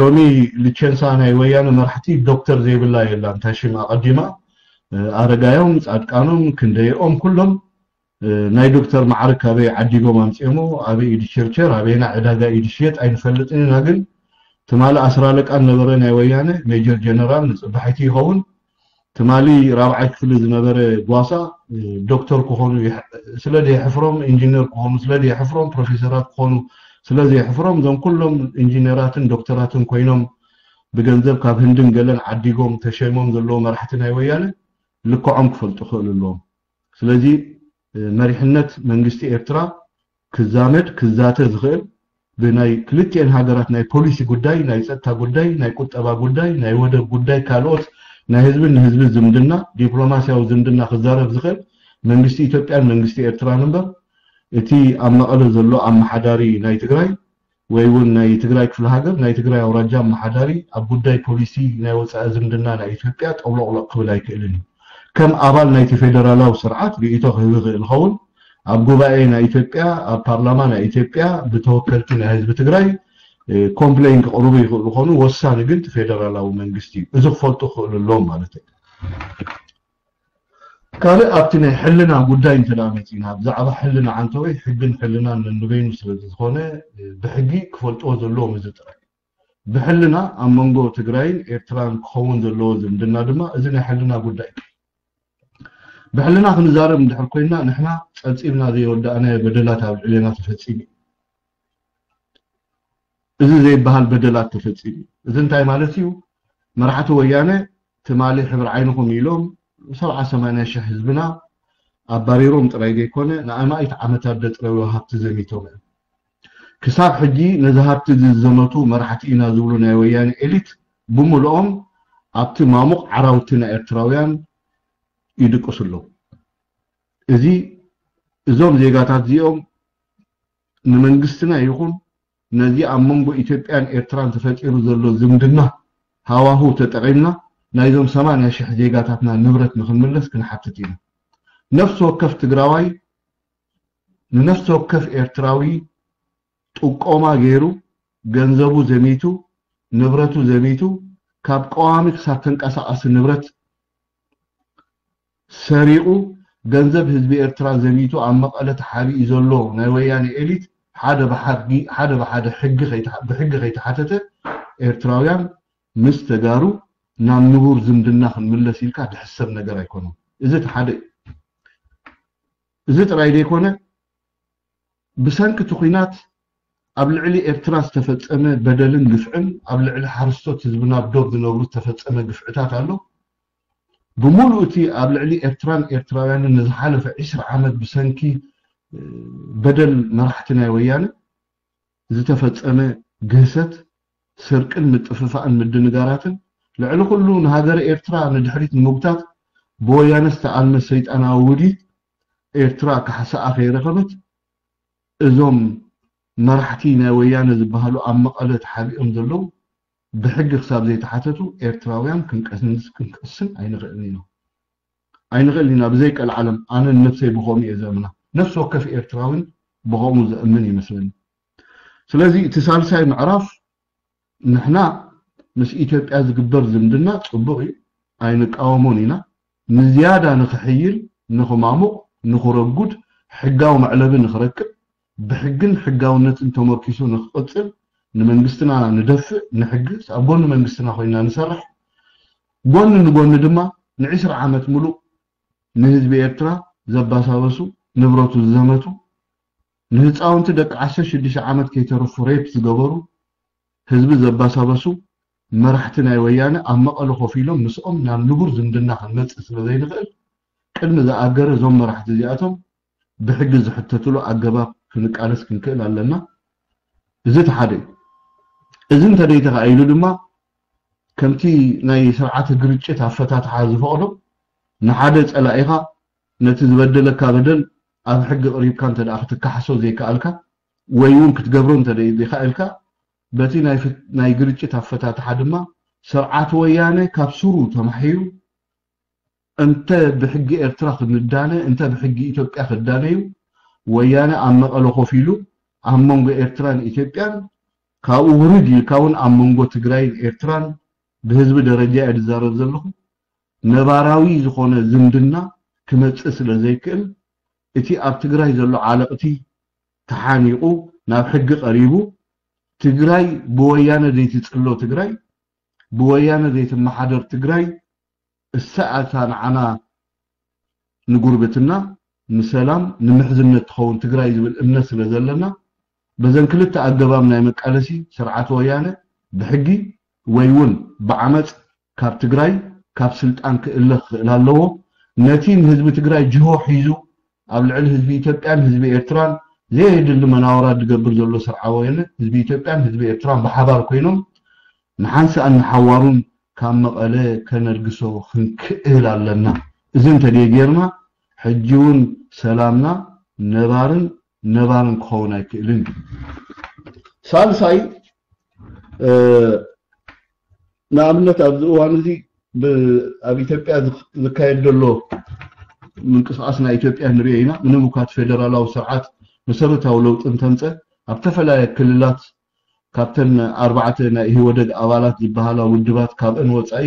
ሎሚ ልቸንሳ ናይ ወያነ መራሕቲ ዶክተር ዘይብላ የላን። እንታይ ሽም ኣቐዲማ ኣረጋዮም፣ ጻድቃኖም፣ ክንደይኦም ኩሎም ናይ ዶክተር ማዕርግ ካበይ ዓዲጎም ኣምጺኦሞ፣ ኣበይ ኢዩ ዝቸርቸር፣ ኣበይና ዕዳጋ ኢዩ ዝሽየጥ ኣይንፈልጥን ኢና። ግን ትማሊ ኣስር ኣለቃ ነበረ ናይ ወያነ ሜጀር ጀነራል ንጽባሒቲ ይኸውን። ትማሊ ራብዓይ ክፍሊ ዝነበረ ጓሳ ዶክተር ክኾኑ ስለ ዘየሕፍሮም፣ ኢንጂነር ክኾኑ ስለ ዘየሕፍሮም፣ ፕሮፌሰራት ክኾኑ ስለ ዘየሕፍሮም፣ እዞም ኩሎም ኢንጂነራትን ዶክተራትን ኮይኖም ብገንዘብ ካብ ህንድን ገለን ዓዲጎም ተሸይሞም ዘለዉ መራሕቲ ናይ ወያነ ልክዖም ክፈልጡ ክኽእሉ ኣለዎም። ስለዚ መሪሕነት መንግስቲ ኤርትራ ክዛመድ ክዛተ ዝኽእል ብናይ ክልቲኤን ሃገራት ናይ ፖሊሲ ጉዳይ፣ ናይ ጸጥታ ጉዳይ፣ ናይ ቁጠባ ጉዳይ፣ ናይ ወደብ ጉዳይ፣ ካልኦት ናይ ህዝብን ንህዝቢ ዝምድና፣ ዲፕሎማስያዊ ዝምድና ክዛረብ ዝኽእል መንግስቲ ኢትዮጵያን መንግስቲ ኤርትራን እምበር እቲ ኣብ መቐለ ዘሎ ኣመሓዳሪ ናይ ትግራይ ወይ እውን ናይ ትግራይ ክፍለ ሃገር ናይ ትግራይ ኣውራጃ ኣመሓዳሪ ኣብ ጉዳይ ፖሊሲ ናይ ወፃኢ ዝምድና ናይ ኢትዮጵያ ጠብሎቕሎቕ ክብል ኣይክእልን እዩ። ከም ኣባል ናይቲ ፌደራላዊ ስርዓት ርእይቶ ክህብ ይኽእል ይኸውን። ኣብ ጉባኤ ናይ ኢትዮጵያ፣ ኣብ ፓርላማ ናይ ኢትዮጵያ ብተወከልቲ ናይ ህዝቢ ትግራይ ኮምፕሌን ክቕርቡ ይኽእሉ ይኾኑ። ወሳኒ ግን እቲ ፌደራላዊ መንግስቲ እዩ። እዚ ክፈልጡ ክኽእሉ ኣለዎም ማለት እዩ። ካልእ ኣብቲ ናይ ሕልና ጉዳይ እንተ ደኣ መጺና፣ ብዛዕባ ሕልና ዓንተወይ ሕግን ሕልናን ነንበይኑ ስለ ዝኾነ ብሕጊ ክፈልጥዎ ዘለዎም እዚ ጥራይ። ብሕልና ኣብ መንጎ ትግራይን ኤርትራን ክኸውን ዘለዎ ዝምድና ድማ እዚ ናይ ሕልና ጉዳይ እዩ። ብሕልና ክንዛረብ እንድሕር ኮይንና ንሕና ጸብጺብና ዘይወዳእናዮ በደላት ኣብ ልዕሌና ተፈጺሙ እዩ። እዚ ዘይበሃል በደላት ተፈጺሙ እዩ። እዚ እንታይ ማለት እዩ? መራሕቲ ወያነ ትማሊ ሕብሪ ዓይንኹም ኢሎም ሰብዓ ሰማንያ ሽሕ ህዝብና ኣባሪሮም ጥራይ ዘይኮነ ንኣማኢት ዓመታት ዘጥረዩ ሃብቲ ዘሚቶም እዮም። ክሳብ ሕጂ ነዚ ሃብቲ እዚ ዝዘመቱ መራሕቲ ኢና ዝብሉ ናይ ወያነ ኤሊት ብምልኦም ኣብቲ ማሙቕ ዓራውቲ ናይ ኤርትራውያን ይድቅሱ ኣለዉ። እዚ እዞም ዜጋታት እዚኦም ንመንግስትና ይኹን ነዚ ኣብ መንጎ ኢትዮጵያን ኤርትራን ተፈጢሩ ዘሎ ዝምድና ሃዋሁ ተጠቒምና ናይዞም ሰማንያ ሺሕ ዜጋታትና ንብረት ንኽንምለስ ክንሓትት ኢና። ነፍሲ ወከፍ ትግራዋይ ንነፍሲ ወከፍ ኤርትራዊ ጥቆማ ገይሩ ገንዘቡ ዘሚቱ ንብረቱ ዘሚቱ ካብ ቀዋሚ ክሳብ ተንቀሳቐሲ ንብረት ሰሪቑ ገንዘብ ህዝቢ ኤርትራ ዘሚቱ ኣብ መቐለ ተሓቢኡ ዘሎ ናይ ወያነ ኤሊት ሓደ ብሓድጊ ሓደ ብሓደ ሕጊ ከይተሓ- ብሕጊ ከይተሓተተ ኤርትራውያን ምስ ተጋሩ ናብ ንቡር ዝምድና ክንምለስ ኢልካ ድሕሰብ ነገር ኣይኮነን። እዚ እቲ ሓደ እዩ። እዚ ጥራይ ዘይኮነ ብሰንኪ እቲ ኲናት ኣብ ልዕሊ ኤርትራ ዝተፈጸመ በደልን ግፍዕን ኣብ ልዕሊ ሓረስቶት ህዝብና ኣብ ዶብ ዝነብሩ ዝተፈጸመ ግፍዕታት ኣሎ። ብምሉእ እቲ ኣብ ልዕሊ ኤርትራን ኤርትራውያንን ንዝሓለፈ ዕስራ ዓመት ብሰንኪ በደል መራሕቲ ናይ ወያነ ዝተፈጸመ ግህሰት፣ ስርቅን ምጥፍፋእን ምድንጋራትን ልዕሊ ኩሉ ንሃገረ ኤርትራ ንድሕሪት ንምጉታት ብወያነ ዝተኣልመ ሰይጣናዊ ውዲት ኤርትራ ካሕሳኣ ከይረኸበት እዞም መራሕቲ ናይ ወያነ ዝበሃሉ ኣብ መቐለ ተሓቢኦም ዘለዉ ብሕጊ ክሳብ ዘይተሓተቱ ኤርትራውያን ክንቀስን ክንቀስን ኣይንኽእልን ኢና። ኣይንኽእልን ኢና ብዘይ ቀልዓለም። ኣነ ንነብሰይ ብኸምኡ እየ ዘእምና። ነፍሲ ወከፍ ኤርትራውን ብኸምኡ ዘእምን ይመስለኒ። ስለዚ እቲ ሳልሳይ ምዕራፍ ንሕና ምስ ኢትዮጵያ ዝግበር ዝምድና ጽቡቕ እዩ፣ ኣይንቃወሞን ኢና። ንዝያዳ ንኽሕይል፣ ንኽማሙቕ፣ ንኽረጉድ፣ ሕጋዊ መዕለቢ ንኽረክብ፣ ብሕግን ሕጋውነትን ተመርኪሱ ንኽቕጽል ንመንግስትና ንደፍእ፣ ንሕግዝ፣ ኣብ ጎኒ መንግስትና ኮይና ንሰርሕ፣ ጎኒ ንጎኒ ድማ ንዕስራ ዓመት ሙሉእ ንህዝቢ ኤርትራ ዘባሳበሱ፣ ንብረቱ ዝዘመቱ፣ ንህፃውንቲ ደቂ ዓሰርተ ሽዱሽተ ዓመት ከይተረፉ ሬፕ ዝገበሩ፣ ህዝቢ ዘባሳበሱ መራሕቲ ናይ ወያነ ኣብ መቐለ ኮፍ ኢሎም ምስኦም ናብ ንቡር ዝምድና ክንመፅእ ስለ ዘይንኽእል ቅድሚ ዝኣገረ እዞም መራሕቲ እዚኣቶም ብሕጊ ዝሕተትሉ ኣገባብ ክንቃለስ ክንክእል ኣለና። እዚ እቲ ሓደ እዩ። እዚ እንተደይተኻኢሉ ድማ ከምቲ ናይ ስርዓተ ግርጭት ኣፈታትሓ ዝፈቕዶ ንሓደ ፀላኢኻ ነቲ ዝበደለካ በደል ኣብ ሕጊ ቅሪብካ እንተ ደኣ ክትከሓሶ ዘይከኣልካ ወይ እውን ክትገብሮ እንተ ዘይከኣልካ በቲ ናይ ፍት- ናይ ግርጭት ኣፈታትሓ ድማ ስርዓት ወያነ ካብ ስሩ ተማሒሩ እንተ ብሕጊ ኤርትራ ክንዳነ እንተ ብሕጊ ኢትዮጵያ ክዳነ እዩ ወያነ ኣብ መቐለ ኮፍ ኢሉ ኣብ መንጎ ኤርትራን ኢትዮጵያን ካብኡ ውርድ ኢልካ እውን ኣብ መንጎ ትግራይን ኤርትራን ብህዝቢ ደረጃ እየ ዝዛረብ ዘለኹ ነባራዊ ዝኾነ ዝምድና ክመፅእ ስለ ዘይክእል እቲ ኣብ ትግራይ ዘሎ ዓለቕቲ ተሓኒቑ ናብ ሕጊ ቀሪቡ ትግራይ ብወያነ ዘይትፅሎ ትግራይ ብወያነ ዘይትመሓደር ትግራይ እሳ እታ ንዓና ንጉርብትና ንሰላም ንምሕዝነት ትኸውን ትግራይ ዝብል እምነት ስለ ዘለና በዘን ክልተ ኣገባብ ናይ መቃለሲ ስርዓት ወያነ ብሕጊ ወይ እውን ብዓመፅ ካብ ትግራይ ካብ ስልጣን ክእለ ክኽእል ኣለዎ። ነቲ ንህዝቢ ትግራይ ጅሆ ሒዙ ኣብ ልዕሊ ህዝቢ ኢትዮጵያን ህዝቢ ኤርትራን ዘየድሊ መናወራ ዝገብር ዘሎ ስርዓት ወያነ ህዝቢ ኢትዮጵያን ህዝቢ ኤርትራን ብሓባር ኮይኖም ንሓንሳእን ንሓዋሩን ካብ መቐለ ከነልግሶ ክንክእል ኣለና። እዚ እንተደይ ጌርና ሕጂ እውን ሰላምና ነባርን ነባርን ክኸውን ኣይክእልን እዩ። ሳልሳይ ንኣብነት ኣብዚ እዋን እዚ ኣብ ኢትዮጵያ ዝካየድ ዘሎ ምንቅስቃስ ናይ ኢትዮጵያ ንሪኦ ኢና። ምንም እኳ እቲ ፌደራላዊ ስርዓት መሰረታዊ ለውጢ እንተምፀ ኣብ ዝተፈላለየ ክልላት ካብተን ኣርባዕተ ናይ ኢህወደግ ኣባላት ዝበሃላ ውድባት ካብአን ወፃኢ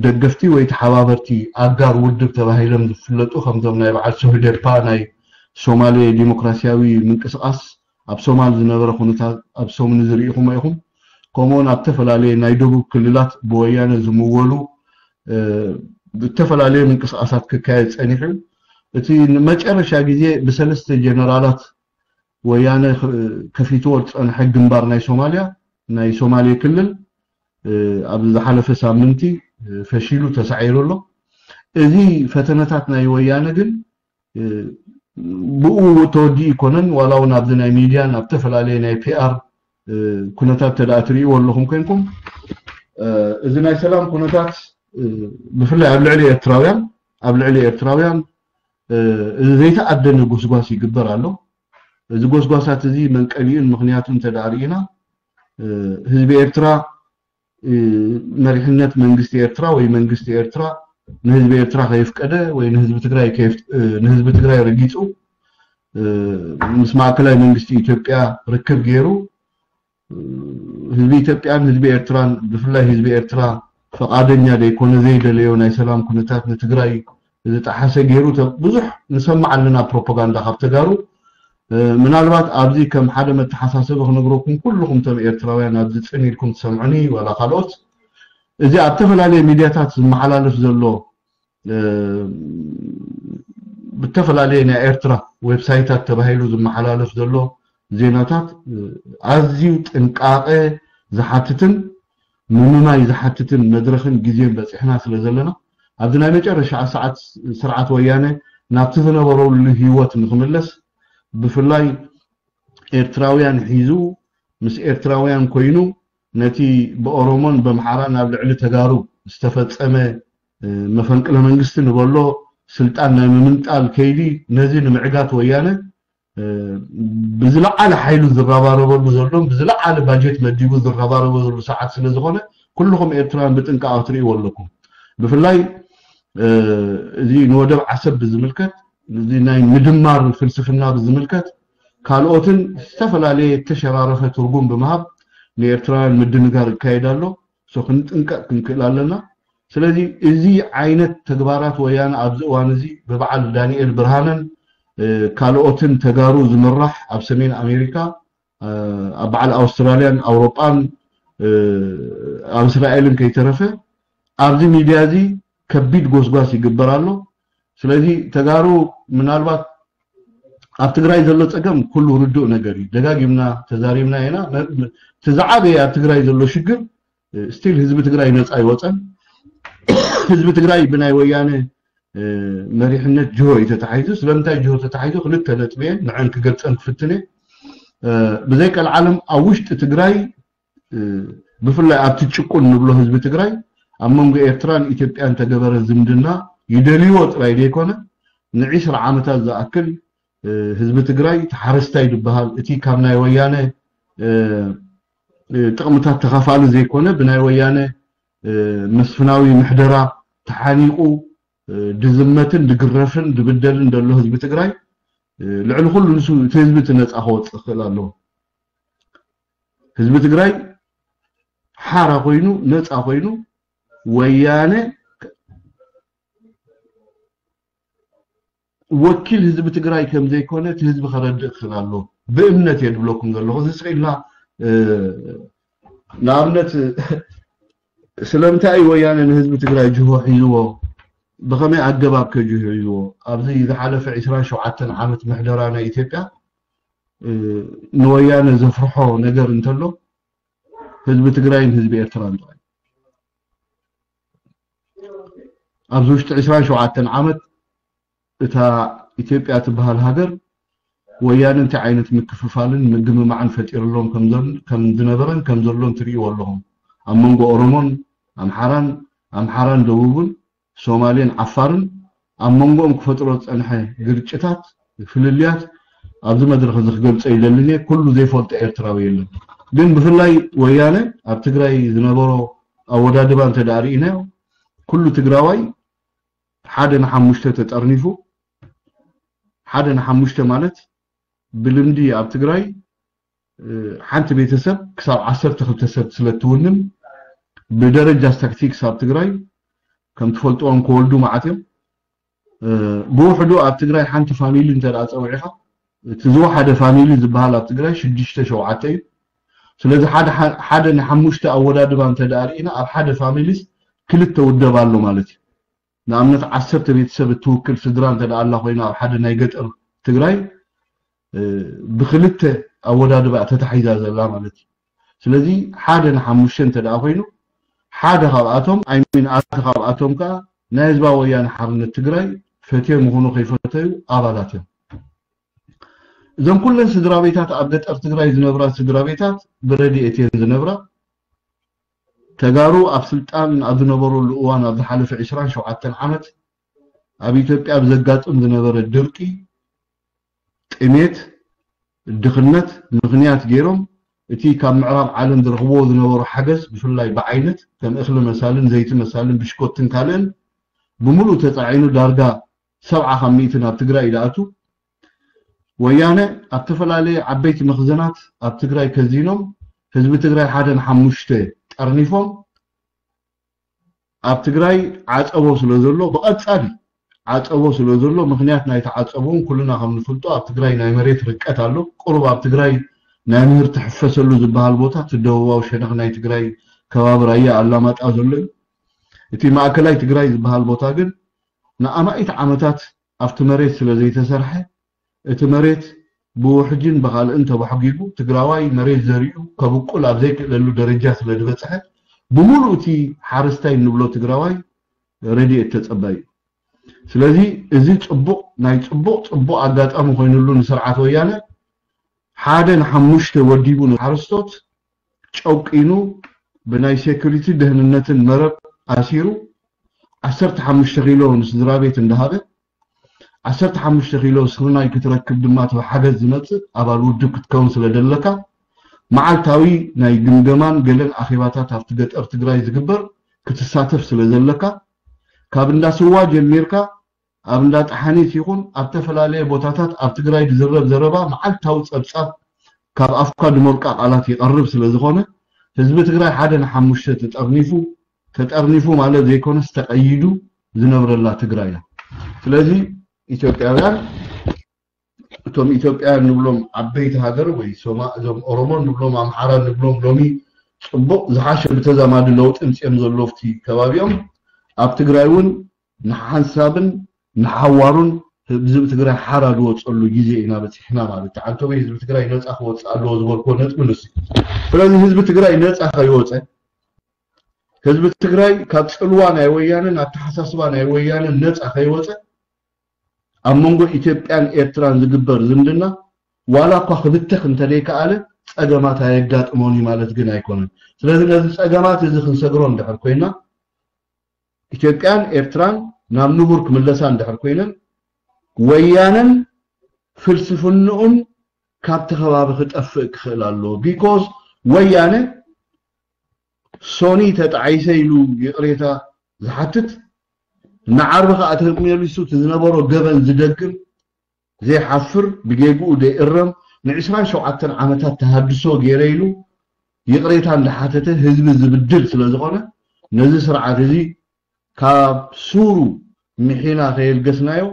ደገፍቲ ወይ ተሓባበርቲ ኣጋር ውድብ ተባሂሎም ዝፍለጡ ከምዞም ናይ በዓል ሶህዴፓ ናይ ሶማሌ ዲሞክራሲያዊ ምንቅስቃስ ኣብ ሶማል ዝነበረ ኩነታት ኣብ ሰሙን እዚ ርኢኹሞ ኢኹም። ከምኡውን ኣብ ዝተፈላለየ ናይ ደቡብ ክልላት ብወያነ ዝምወሉ ዝተፈላለየ ምንቅስቃሳት ክካየድ ፀኒሑ እዩ። እቲ ንመጨረሻ ግዜ ብሰለስተ ጀነራላት ወያነ ከፊትዎ ዝፀንሐ ግንባር ናይ ሶማልያ ናይ ሶማሌ ክልል ኣብ ዝሓለፈ ሳምንቲ ፈሺሉ ተሳዒሩ ኣሎ። እዚ ፈተነታት ናይ ወያነ ግን ብኡ ተወዲኡ ይኮነን ዋላ እውን ኣብዚ ናይ ሚድያን ኣብ ዝተፈላለየ ናይ ፒኣር ኩነታት ተደኣ ትርእይዎ ኣለኹም ኮይንኩም እዚ ናይ ሰላም ኩነታት ብፍላይ ኣብ ልዕሊ ኤርትራውያን ኣብ ልዕሊ ኤርትራውያን እዚ ዘይተኣደነ ጎስጓስ ይግበር ኣሎ። እዚ ጎስጓሳት እዚ መንቀሊኡን ምኽንያቱ እንተ ደኣ ርኢና፣ ህዝቢ ኤርትራ፣ መሪሕነት መንግስቲ ኤርትራ ወይ መንግስቲ ኤርትራ ንህዝቢ ኤርትራ ከየፍቀደ ወይ ንህዝቢ ትግራይ ከየፍ-፣ ንህዝቢ ትግራይ ረጊጹ፣ ምስ ማእከላይ መንግስቲ ኢትዮጵያ ርክብ ገይሩ፣ ህዝቢ ኢትዮጵያን ህዝቢ ኤርትራን፣ ብፍላይ ህዝቢ ኤርትራ፣ ፈቓደኛ ዘይኮነ፣ ዘይደለዮ ናይ ሰላም ኩነታት ንትግራይ ዝጠሓሰ ገይሩ ተ-፣ ብዙሕ ንሰምዕ ኣለና ፕሮፓጋንዳ ካብ ተጋሩ። ምናልባት ኣብዚ ከም ሓደ መተሓሳሰቢ ክነግረኩም፣ ኩልኹም ቶም ኤርትራውያን ኣብዚ ጽን ኢልኩም ትሰምዑኒ ዋላ ካልኦት፣ እዚ ኣብ ተፈላለየ ሚድያታት ዝመሓላለፍ ዘሎ፣ ብተፈላለየ ናይ ኤርትራ ዌብሳይታት ተባሂሉ ዝመሓላለፍ ዘሎ ዜናታት ኣዝዩ ጥንቃቐ ዝሓትትን ምምማይ ዝሓትትን መድረኽን ግዜን በጺሕና ስለ ዘለና፣ ኣብዚ ናይ መጨረሻ ሰዓት ስርዓት ወያነ ናብቲ ዝነበረሉ ህይወት ንክምለስ፣ ብፍላይ ኤርትራውያን ሒዙ፣ ምስ ኤርትራውያን ኮይኑ፣ ነቲ ብኦሮሞን በምሓራን ኣብ ልዕሊ ተጋሩ ዝተፈጸመ፣ እ፣ መፈንቅለ መንግስቲ ንበሎ ስልጣን ናይ ምምንጣል ከይዲ፣ ነዚ ንምዕጋት ወያነ፣ እ፣ ብዝለዓለ ሓይሉ ዝረባረበሉ ዘሎን ብዝለዓለ ባጀት መዲቡ ዝረባረበሉ ሰዓት ስለ ዝኾነ፣ ኩልኹም ኤርትራውያን ብጥንቃቐ ክትርእይዎ ኣለኩም። ብፍላይ፣ እ፣ እዚ ንወደብ ዓሰብ ብዝምልከት፣ እዚ ናይ ምድማር ፍልስፍና ብዝምልከት፣ ካልኦትን ዝተፈላለየ እተሸራረፈ ትርጉም ብምሃብ ንኤርትራውያን ምድንጋር ይካየድ ኣሎ። ሶ ክንጥንቀቕ ክንክእል ኣለና። ስለዚ እዚ ዓይነት ተግባራት ወያነ ኣብዚ እዋን እዚ ብበዓል ዳንኤል ብርሃነን፣ እ፣ ካልኦትን ተጋሩ ዝምራሕ ኣብ ሰሜን ኣሜሪካ፣ እ፣ ኣብ በዓል ኣውስትራልያን ኣውሮጳን፣ እ፣ ኣብ እስራኤልን ከይተረፈ ኣብዚ ሚድያ እዚ ከቢድ ጎስጓስ ይግበር ኣሎ። ስለዚ ተጋሩ ምናልባት ኣብ ትግራይ ዘሎ ጸገም ኩሉ ርዱእ ነገር እዩ። ደጋጊምና ተዛሪብና ኢና። መ-፣ መ-፣ እቲ ዝዓበየ ኣብ ትግራይ ዘሎ ሽግር፣ እ፣ ስቲል ህዝቢ ትግራይ ነጻ ኣይወጸን። ህዝቢ ትግራይ ብናይ ወያነ፣ እ፣ መሪሕነት ጅሆ እዩ ተታሒዙ። ስለምንታይ ጅሆ ተታሒዙ? ክልተ ነጥቢ እየን ንዐን ክገልጸን ክፍትን እየ። እ፣ ብዘይ ቀልዓለም ኣብ ውሽጢ ትግራይ፣ እ፣ ብፍላይ ኣብቲ ጭቁን ንብሎ ህዝቢ ትግራይ፣ ኣብ መንጎ ኤርትራን ኢትዮጵያን ተገበረ ዝምድና ይደልይዎ ጥራይ ዘይኮነ፣ ንዒስራ ዓመታት ዝኣክል፣ እ፣ ህዝቢ ትግራይ ተሓረስታይ ዝበሃል፣ እቲ ካብ ናይ ወያነ፣ እ፣ እ፣ ጥቕምታት ተኻፋሊ ዘይኮነ፣ ብናይ ወያነ፣ እ፣ መስፍናዊ ምሕደራ ተሓኒቑ፣ እ፣ ድዝመትን ድግረፍን ድብደልን ዘሎ ህዝቢ ትግራይ፣ እ፣ ልዕሊ ኩሉ ንሱ እቲ ህዝቢ እቲ ነጻ ክወጽእ ክኽእል ኣለዎ። ህዝቢ ትግራይ ሓራ ኮይኑ፣ ነጻ ኮይኑ፣ ወያነ ወኪል ህዝቢ ትግራይ ከም ዘይኮነ እቲ ህዝቢ ከረድእ ክኽእል ኣለዎ። ብእምነት እየ ድብለኩም ዘለኹ። እዚ ስቕ ኢልና፣ እ፣ ንኣብነት፣ ስለምንታይ እዩ ወያነ ንህዝቢ ትግራይ ጅሆ ሒዝዎ? ብኸመይ ኣገባብ ከ ጅሆ ሒዝዎ? ኣብዚ ዝሓለፈ ዒስራን ሸውዓተን ዓመት ምሕደራ ናይ ኢትዮጵያ፣ እ፣ ንወያነ ዘፍርሖ ነገር እንተሎ፣ ህዝቢ ትግራይን ህዝቢ ኤርትራን ጥራይ። ኣብዚ ውሽጢ ዒስራን ሸውዓተን ዓመት እታ ኢትዮጵያ ትበሃል ሃገር፣ ወያነ እንታይ ዓይነት ምክፍፋልን ምግምማዕን ፈጢርሎም ከም ዘል-፣ ከም ዝነበረን ከም ዘሎን ትርእይዎ ኣለኹም። ኣብ መንጎ ኦሮሞን ኣምሓራን፣ ኣምሓራን ደቡብን፣ ሶማሌን ዓፋርን ኣብ መንጎኦም ክፈጥሮ ዝጸንሐ ግርጭታት፣ ፍልልያት ኣብዚ መድረኽ እዚ ክገልጾ ይደልን እየ። ኩሉ ዘይፈልጦ ኤርትራዊ የለን። ግን ብፍላይ ወያነ ኣብ ትግራይ ዝነበሮ ኣወዳድባ እንተ ደኣ ርኢናዮ፣ ኩሉ ትግራዋይ ሓደ ንሓሙሽተ ተጠርኒፉ፣ ሓደ ንሓሙሽተ ማለት ብልምዲ ኣብ ትግራይ፣ እ፣ ሓንቲ ቤተሰብ ክሳብ ዓሰርተ ክልተ ሰብ ስለ እትውንን፣ ብደረጃ ስታክቲክስ ኣብ ትግራይ ከም ትፈልጥዎም ክወልዱ መዓት እዮም። እ፣ ብውሕዱ ኣብ ትግራይ ሓንቲ ፋሚሊ እንተ ደኣ ጸዊዕኻ፣ እቲ ዝወሓደ ፋሚሊ ዝበሃል ኣብ ትግራይ ሽዱሽተ ሸውዓተ እዩ። ስለዚ ሓደ፣ ሓደ ንሓሙሽተ ኣወዳድባ እንተ ደኣ ርኢና፣ ኣብ ሓደ ፋሚሊስ ክልተ ውደብ ኣሎ ማለት እዩ። ንኣብነት ዓሰርተ ቤተሰብ እትውክል ስድራ እንተ ደኣ ኣላ ኮይና ኣብ ሓደ ናይ ገጠር ትግራይ፣ እ፣ ብክልተ ኣወዳድባ ተታሒዛ ዘላ ማለት እዩ። ስለዚ ሓደ ንሓሙሽተ እንተ ደኣ ኮይኑ፣ ሓደ ካብኣቶም፣ ኣይ ሚን፣ ኣርባዕተ ካብኣቶም ከኣ ናይ ህዝባዊ ወያነ ሓርነት ትግራይ ፈትዮ ምኹኑ ከይፈተዩ ኣባላት እዮም። እዞም ኩለን ስድራ ቤታት ኣብ ገጠር ትግራይ ዝነብራ ስድራ ቤታት ብረድኤት እየን ዝነብራ። ተጋሩ ኣብ ስልጣን ኣብ ዝነበሩሉ እዋን ኣብ ዝሓለፈ ዒስራን ሸውዓተን ዓመት ኣብ ኢትዮጵያ ብዘጋጥም ዝነበረ ድርቂ፣ ጥሜት፣ ድኽነት ምኽንያት ገይሮም እቲ ካብ ምዕራብ ዓለም ዝረኽብዎ ዝነበሩ ሓገዝ፣ ብፍላይ ብዓይነት ከም እኽሊ መሳልን ዘይቲ መሳልን ብሽኮትን ካልእን ብምሉእ ተጻዒኑ ዳርጋ ሰብዓ ካብ ሚእቲ ናብ ትግራይ እዩ ዝኣቱ። ወያነ ኣብ ዝተፈላለየ ዓበይቲ መኽዘናት ኣብ ትግራይ ከዚኖም ህዝቢ ትግራይ ሓደ ንሓሙሽተ ጠርኒፎም ኣብ ትግራይ ዓፀቦ ስለ ዘሎ ብቐፃሊ ዓፀቦ ስለ ዘሎ ምኽንያት ናይቲ ዓፀቦ እውን ኩልና ከም ንፍልጦ ኣብ ትግራይ ናይ መሬት ርቀት ኣሎ። ቁሩብ ኣብ ትግራይ ናይ ምህርቲ ሕፈሰሉ ዝበሃል ቦታ እቲ ደቡባዊ ሸነኽ ናይ ትግራይ ከባቢ ራያ ኣላማጣ ዘሎ እዩ። እቲ ማእከላይ ትግራይ ዝበሃል ቦታ ግን ንኣማኢት ዓመታት ኣብቲ መሬት ስለ ዘይተሰርሐ እቲ መሬት ብውሕጅን ብኻልእን ተባሕጊጉ ትግራዋይ መሬት ዘሪኡ ከብቁል ኣብ ዘይክእለሉ ደረጃ ስለ ዝበፅሐ ብምሉእ እቲ ሓረስታይ እንብሎ ትግራዋይ ረድኤት ተፀባይ እዩ። ስለዚ እዚ ፅቡቕ ናይ ፅቡቕ ፅቡቕ ኣጋጣሚ ኮይኑሉ ንስርዓት ወያነ ሓደ ንሓሙሽተ ወዲቡ ንሓረስቶት ጨቂኑ ብናይ ሴኩሪቲ ደህንነትን መረብ ኣሲሩ ዓሰርተ ሓሙሽተ ኪሎ ንስድራ ቤት እንዳሃበ ዓሰርተ ሓሙሽተ ኪሎ ስርናይ ክትረክብ ድማ እቲ ሓገዝ ዝመፅእ ኣባል ውድብ ክትከውን ስለ ደለካ መዓልታዊ ናይ ግምገማን ገለን ኣኼባታት ኣብቲ ገጠር ትግራይ ዝግበር ክትሳተፍ ስለ ዘለካ ካብ እንዳ ስዋ ጀሚርካ ኣብ እንዳ ጠሓኒት ይኹን ኣብ ዝተፈላለየ ቦታታት ኣብ ትግራይ ዝዝረብ ዘረባ መዓልታዊ ፀብፃብ ካብ ኣፍካ ድሞልቃ ቃላት ይቐርብ ስለ ዝኾነ ህዝቢ ትግራይ ሓደ ንሓሙሽተ ተጠርኒፉ ተጠርኒፉ ማለት ዘይኮነስ ተቐይዱ ዝነብረላ ትግራይ እያ። ስለዚ ኢትዮጵያውያን እቶም ኢትዮጵያውያን ንብሎም ዓበይቲ ሃገር ወይ ሶማ እዞም ኦሮሞ ንብሎም ኣምሓራ ንብሎም ሎሚ ፅቡቕ ዝሓሸ ብተዛማዲ ለውጢ ምፅኦም ዘለዉ ኣብቲ ከባቢኦም ኣብ ትግራይ እውን ንሓንሳብን ንሓዋሩን ህዝቢ ትግራይ ሓራ ዝወፀሉ ግዜ ኢና በፂሕና ማለት እዩ። ዓንተቦይ ህዝቢ ትግራይ ነፃ ክወፅእ ኣለዎ ዝበልክዎ ነጥቢ ንሱ እዩ። ስለዚ ህዝቢ ትግራይ ነፃ ከይወፀ ህዝቢ ትግራይ ካብ ፅልዋ ናይ ወያነን ኣተሓሳስባ ናይ ወያነን ነፃ ከይወፀ ኣብ መንጎ ኢትዮጵያን ኤርትራን ዝግበር ዝምድና ዋላ እኳ ክብተኽ እንተደይከኣለ ፀገማት ኣየጋጥሞን እዩ ማለት ግን ኣይኮነን። ስለዚ ነዚ ፀገማት እዚ ክንሰግሮ እንድሕር ኮይና ኢትዮጵያን ኤርትራን ናብ ንቡር ክምለሳ እንድሕር ኮይነን ወያነን ፍልስፍንኡን ካብቲ ከባቢ ክጠፍእ ክኽእል ኣለዎ። ቢኮዝ ወያነ ሶኒ ተጣዒሰ ኢሉ ይቕሬታ ዝሓትት ንዓርቢ ከዓ ተመሊሱ እቲ ዝነበሮ ገበን ዝደግም ዘይሓፍር ብጌግኡ ዘይእረም ንዕስራን ሸውዓተን ዓመታት ተሃድሶ ገይረ ኢሉ ይቕሬታ እንዳሓተተ ህዝቢ ዝብድል ስለ ዝኾነ ነዚ ስርዓት እዚ ካብ ሱሩ ምሒና ከየልገስናዮ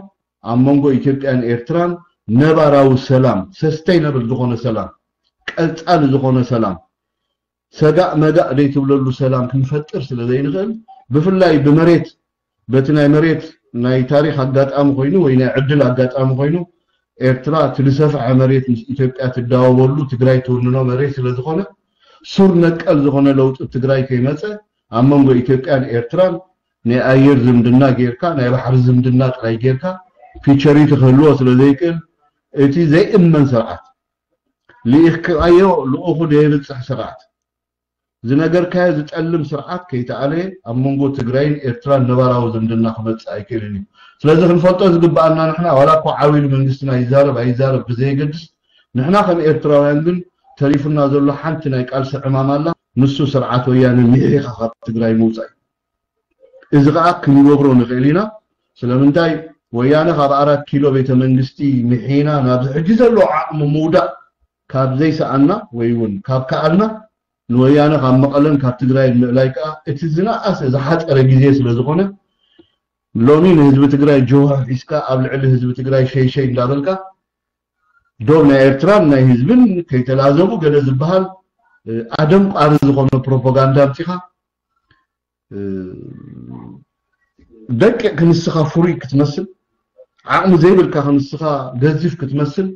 ኣብ መንጎ ኢትዮጵያን ኤርትራን ነባራዊ ሰላም ሰስተይነብል ዝኾነ ሰላም ቀፃሊ ዝኾነ ሰላም ሰጋእ መጋእ ዘይትብለሉ ሰላም ክንፈጥር ስለ ዘይንኽእል ብፍላይ ብመሬት በቲ ናይ መሬት ናይ ታሪክ ኣጋጣሚ ኮይኑ ወይ ናይ ዕድል ኣጋጣሚ ኮይኑ ኤርትራ እቲ ዝሰፍሐ መሬት ምስ ኢትዮጵያ ትዳወበሉ ትግራይ ትውንኖ መሬት ስለ ዝኾነ ሱር ነቀል ዝኾነ ለውጢ ትግራይ ከይመፀ ኣብ መንጎ ኢትዮጵያን ኤርትራን ናይ ኣየር ዝምድና ጌርካ ናይ ባሕሪ ዝምድና ጥራይ ጌርካ ፊቸሪቲ ክህልዎ ስለ ዘይክእል እቲ ዘይእመን ስርዓት ልኢኽካዮ ልኡኹ ደየብፅሕ ስርዓት ዝነገርካዮ ዝጠልም ስርዓት ከይተኣለየ ኣብ መንጎ ትግራይን ኤርትራን ነባራዊ ዝምድና ክመፅእ ኣይክእልን እዩ። ስለዚ ክንፈልጦ ዝግበኣና ንሕና ዋላ እኳ ዓው ኢሉ መንግስትና ይዛረብ ኣይዛረብ ብዘየገድስ ንሕና ከም ኤርትራውያን ግን ተሪፉና ዘሎ ሓንቲ ናይ ቃልሲ ዕማም ኣላ። ንሱ ስርዓት ወያነ ሚሒኻ ካብ ትግራይ ምውፃእ እዩ። እዚ ከዓ ክንገብሮ ንኽእል ኢና። ስለምንታይ ወያነ ካብ ኣራት ኪሎ ቤተ መንግስቲ ምሒና ናብዚ ሕጂ ዘሎ ዓቕሚ ምውዳእ ካብ ዘይሰኣና ወይ እውን ካብ ከኣልና ንወያነ ካብ መቐለን ካብ ትግራይ ምእላይ ከዓ እቲ ዝነኣሰ ዝሓፀረ ግዜ ስለ ዝኾነ ሎሚ ንህዝቢ ትግራይ ጅሆ ሒዝካ ኣብ ልዕሊ ህዝቢ ትግራይ ሸይሸይ እንዳበልካ ዶብ ናይ ኤርትራን ናይ ህዝብን ከይተላዘቡ ገለ ዝበሃል ኣደንቋሪ ዝኾነ ፕሮፓጋንዳ ኣምፂኻ ደቂቕ ክንስኻ ፍሩይ ክትመስል ዓቕሚ ዘይብልካ ክንስኻ ገዚፍ ክትመስል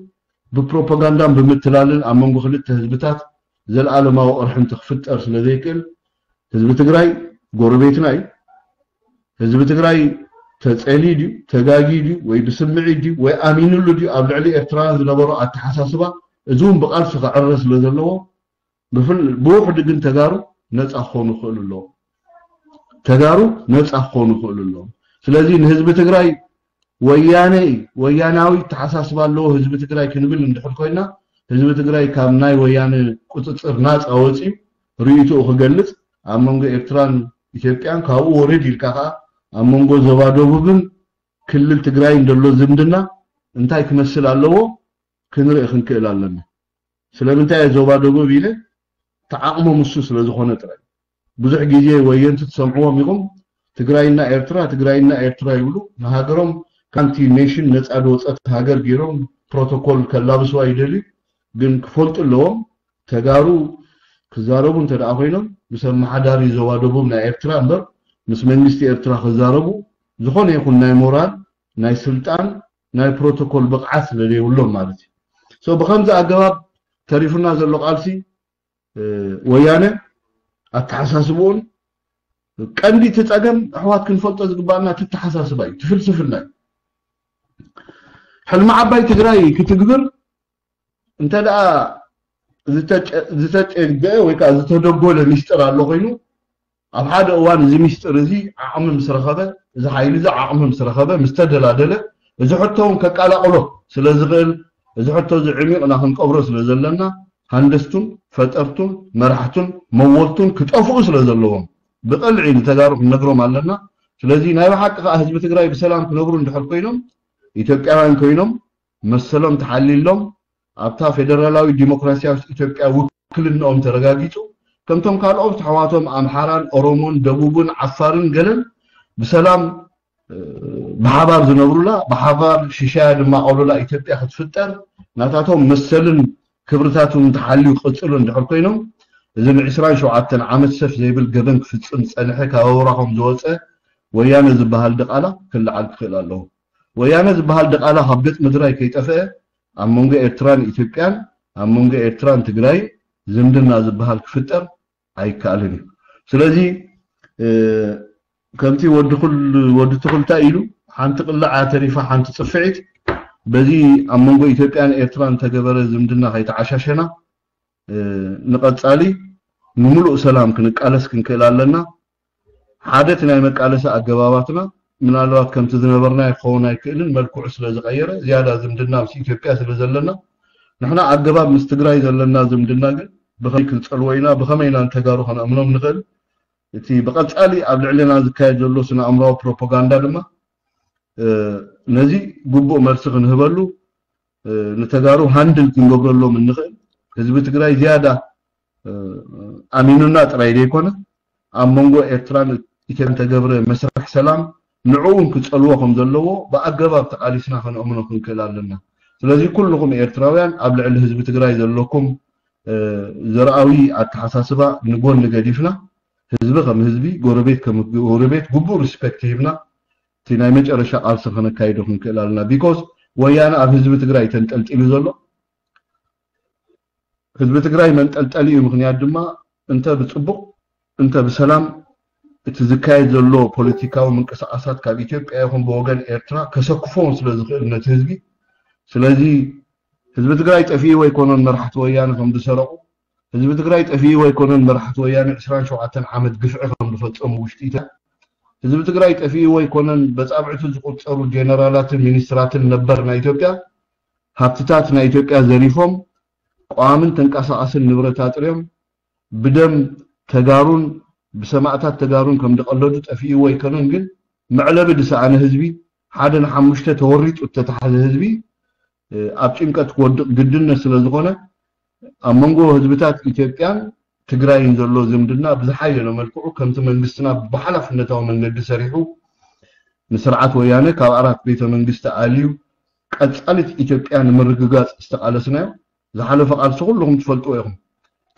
ብፕሮፓጋንዳን ብምትላልን ኣብ መንጎ ክልተ ህዝብታት ዘለኣለማዊ ቅርሕንቲ ክፍጠር ስለ ዘይክእል ህዝቢ ትግራይ ጎረቤትና እዩ። ህዝቢ ትግራይ ተፀልዩ ድዩ ተጋግዩ ድዩ ወይ ብስምዒት ድዩ ወይ ኣሚንሉ ድዩ ኣብ ልዕሊ ኤርትራውያን ዝነበሮ ኣተሓሳስባ እዚ እውን ብቃልሲ ክዕረ ስለ ዘለዎ ብውሕዱ ግን ተጋሩ ነፃ ክኾኑ ይኽእሉ ኣለዎም። ተጋሩ ነፃ ክኾኑ ይኽእሉ ኣለዎም። ስለዚ ንህዝቢ ትግራይ ወያነ እዩ፣ ወያናዊ ተሓሳስባ ኣለዎ ህዝቢ ትግራይ ክንብል እንድሕር ኮይና፣ ህዝቢ ትግራይ ካብ ናይ ወያነ ቁፅፅር ናፃ ወፂኡ ርእይትኡ ክገልፅ፣ ኣብ መንጎ ኤርትራን ኢትዮጵያን፣ ካብኡ ወረድ ኢልካ ከዓ ኣብ መንጎ ዞባ ደቡብን ክልል ትግራይን ዘሎ ዝምድና እንታይ ክመስል ኣለዎ ክንርኢ ክንክእል ኣለና። ስለምንታይ እየ ዞባ ደቡብ ኢለ? ተዓቕሞም እሱ ስለ ዝኾነ ጥራይ። ብዙሕ ግዜ ወየንቲ ትሰምዕዎም ኢኹም፣ ትግራይና ኤርትራ፣ ትግራይና ኤርትራ ይብሉ። ንሃገሮም ካንቲ ኔሽን ነፃ ዝወፀት ሃገር ገይሮም ፕሮቶኮል ከላብስዋ ይደልዩ። ግን ክፈልጡ ኣለዎም፣ ተጋሩ ክዛረቡ እንተ ደኣ ኮይኖም፣ ምስ ኣመሓዳሪ ዞባ ደቡብ ናይ ኤርትራ እምበር፣ ምስ መንግስቲ ኤርትራ ክዛረቡ ዝኾነ ይኹን ናይ ሞራል፣ ናይ ስልጣን፣ ናይ ፕሮቶኮል ብቕዓት ስለ ዘይብሎም ማለት እዩ። So ብኸምዚ ኣገባብ ተሪፉና ዘሎ ቃልሲ፣ እ፣ ወያነ ኣተሓሳስብኡን ቀንዲ እቲ ጸገም ኣሕዋት ክንፈልጦ ዝግባኣና እቲ ኣተሓሳስባ እዩ፣ እቲ ፍልስፍና እዩ። ሕልሚ ዓባይ ትግራይ ክትግብር እንተ ደኣ ዝተጨ-፣ ዝተጨገአ ወይ ከዓ ዝተደጎለ ሚስጥር ኣሎ ኮይኑ፣ ኣብ ሓደ እዋን እዚ ሚስጥር እዚ ዓቕሚ ምስ ረኸበ፣ እዚ ሓይሊ እዚ ዓቕሚ ምስ ረኸበ፣ ምስ ተደላደለ፣ እዚ ሕቶ እውን ከቀላቕሎ ስለ ዝኽእል፣ እዚ ሕቶ እዚ ዕሚቕና ክንቀብሮ ስለ ዘለና፣ ሃንደስቱን ፈጠርቱን መራሕቱን መወልቱን ክጠፍኡ ስለ ዘለዎም፣ ብቐልዒ ንተጋሩ ክንነግሮም ኣለና። ስለዚ ናይ ብሓቂ ከዓ ህዝቢ ትግራይ ብሰላም ክነብሩ እንድሕር ኮይኖም፣ ኢትዮጵያውያን ኮይኖም፣ መሰሎም ተሓሊሎም፣ ኣብታ ፌደራላዊ ዲሞክራሲያዊት ኢትዮጵያ ውክልንኦም ተረጋጊጹ፣ ከምቶም ካልኦት ኣሕዋቶም ኣምሓራን ኦሮሞን ደቡብን ዓፋርን ገለን ብሰላም፣ እ፣ ብሓባር ዝነብሩላ፣ ብሓባር ሽሻያ ድማ ቀሉላ ኢትዮጵያ ክትፍጠር፣ ናታቶም መሰልን ክብርታትን ተሓልዩ ክቕጽሉ እንድሕር ኮይኖም፣ እዚ ንዕስራን ሸውዓተን ዓመት ሰፍ ዘይብል ገበን ክፍጽም ዝጸንሐ ካብ ኣውራኾም ዝወጸ ወያነ ዝበሃል ድቓላ ክለዓል ክኽእል ኣለዎ። ወያነ ዝበሃል ድቓላ ካብ ገጽ ምድራይ ከይጠፍአ፣ ኣብ መንጎ ኤርትራን ኢትዮጵያን፣ ኣብ መንጎ ኤርትራን ትግራይን ዝምድና ዝበሃል ክፍጠር ኣይከኣልን እዩ። ስለዚ፣ እ፣ ከምቲ ወዲ ኩል-፣ ወዲ ትኹልታ ኢሉ፣ ሓንቲ ቅላዕ እያ ተሪፋ፣ ሓንቲ ጽፍዒት። በዚ ኣብ መንጎ ኢትዮጵያን ኤርትራን ተገበረ ዝምድና ከይተዓሻሸና፣ እ፣ ንቐጻሊ ንምሉእ ሰላም ክንቃለስ ክንክእል ኣለና። ሓደ እቲ ናይ መቃለሲ ኣገባባትና ምናልባት ከምቲ ዝነበርናዮ ክኸውን ኣይክእልን፣ መልክዑ ስለ ዝቐየረ፣ ዝያዳ ዝምድና ምስ ኢትዮጵያ ስለ ዘለና፣ ንሕና ኣገባብ ምስ ትግራይ ዘለና ዝምድና ግን ብኸመይ ክንጸልዎ ኢና፣ ብኸመይ ኢና ንተጋሩ ከነእምኖም ንኽእል? እቲ ብቐጻሊ ኣብ ልዕሌና ዝካየድ ዘሎ ስነ ኣእምራዊ ፕሮፓጋንዳ ድማ፣ እ፣ ነዚ ግቡእ መልሲ ክንህበሉ፣ እ፣ ንተጋሩ ሃንድል ክንገብረሎም እንኽእል፣ ህዝቢ ትግራይ ዝያዳ፣ እ፣ ኣሚኑና ጥራይ ዘይኮነ፣ ኣብ መንጎ ኤርትራን ኢትዮጵያን ተገብረ መስርሕ ሰላም ንዕኡ እውን ክጸልዎ ከም ዘለዎ ብኣገባብ ተቓሊስና ከነእምኖ ክንክእል ኣለና። ስለዚ ኩልኹም ኤርትራውያን ኣብ ልዕሊ ህዝቢ ትግራይ ዘለኩም፣ እ፣ ዘርኣዊ ኣተሓሳስባ ንጎኒ ገዲፍና፣ ህዝቢ ከም ህዝቢ፣ ጎረቤት ከም ጎረቤት ግቡእ ሪስፔክት ሂብና፣ እቲ ናይ መጨረሻ ቃልሲ ከነካይዶ ክንክእል ኣለና። ቢኮዝ ወያነ ኣብ ህዝቢ ትግራይ ተንጠልጢሉ ዘሎ፣ ህዝቢ ትግራይ መንጠልጠሊኡ ምኽንያት ድማ እንተ ብጽቡቕ እንተ ብሰላም እቲ ዝካየድ ዘሎ ፖለቲካዊ ምንቅስቃሳት ካብ ኢትዮጵያ ይኹን ብወገን ኤርትራ ከሰክፎም ስለ ዝኽእል ነቲ ህዝቢ። ስለዚ ህዝቢ ትግራይ ጠፊኡ ኣይኮነን መራሕቲ ወያነ ከም ዝሰረቑ፣ ህዝቢ ትግራይ ጠፊኡ ኣይኮነን መራሕቲ ወያነ ዕስራን ሸውዓተን ዓመት ግፍዒ ከም ዝፈጸሙ ውሽጢ ኢትዮጵያ። ህዝቢ ትግራይ ጠፊኡ ኣይኮነን በጻብዕቱ ዝቁጸሩ ጀነራላትን ሚኒስትራትን ነበር ናይ ኢትዮጵያ ሃብትታት ናይ ኢትዮጵያ ዘሪፎም፣ ቀዋምን ተንቀሳቓስን ንብረት ኣጥርዮም፣ ብደም ተጋሩን ብሰማእታት ተጋሩን ከም ዝቐለዱ ጠፊኡ ኣይኮነን። ግን መዕለቢ ዝሰኣነ ህዝቢ፣ ሓደ ንሓሙሽተ ተወሪጡ እተተሓዘ ህዝቢ፣ እ፣ ኣብ ጭንቀት ክወድቕ ግድነት ስለ ዝኾነ፣ ኣብ መንጎ ህዝብታት ኢትዮጵያን ትግራይን ዘሎ ዝምድና ብዝሓየለ መልክዑ ከምቲ መንግስትና ብሓላፍነታዊ መንገዲ ሰሪሑ ንስርዓት ወያነ ካብ ኣራት ቤተ መንግስቲ ኣልዩ ቀጻሊት ኢትዮጵያ ንምርግጋጽ ዝተቓለስናዮ ዝሓለፈ ቃልሲ ኩልኹም ትፈልጥዎ ኢኹም።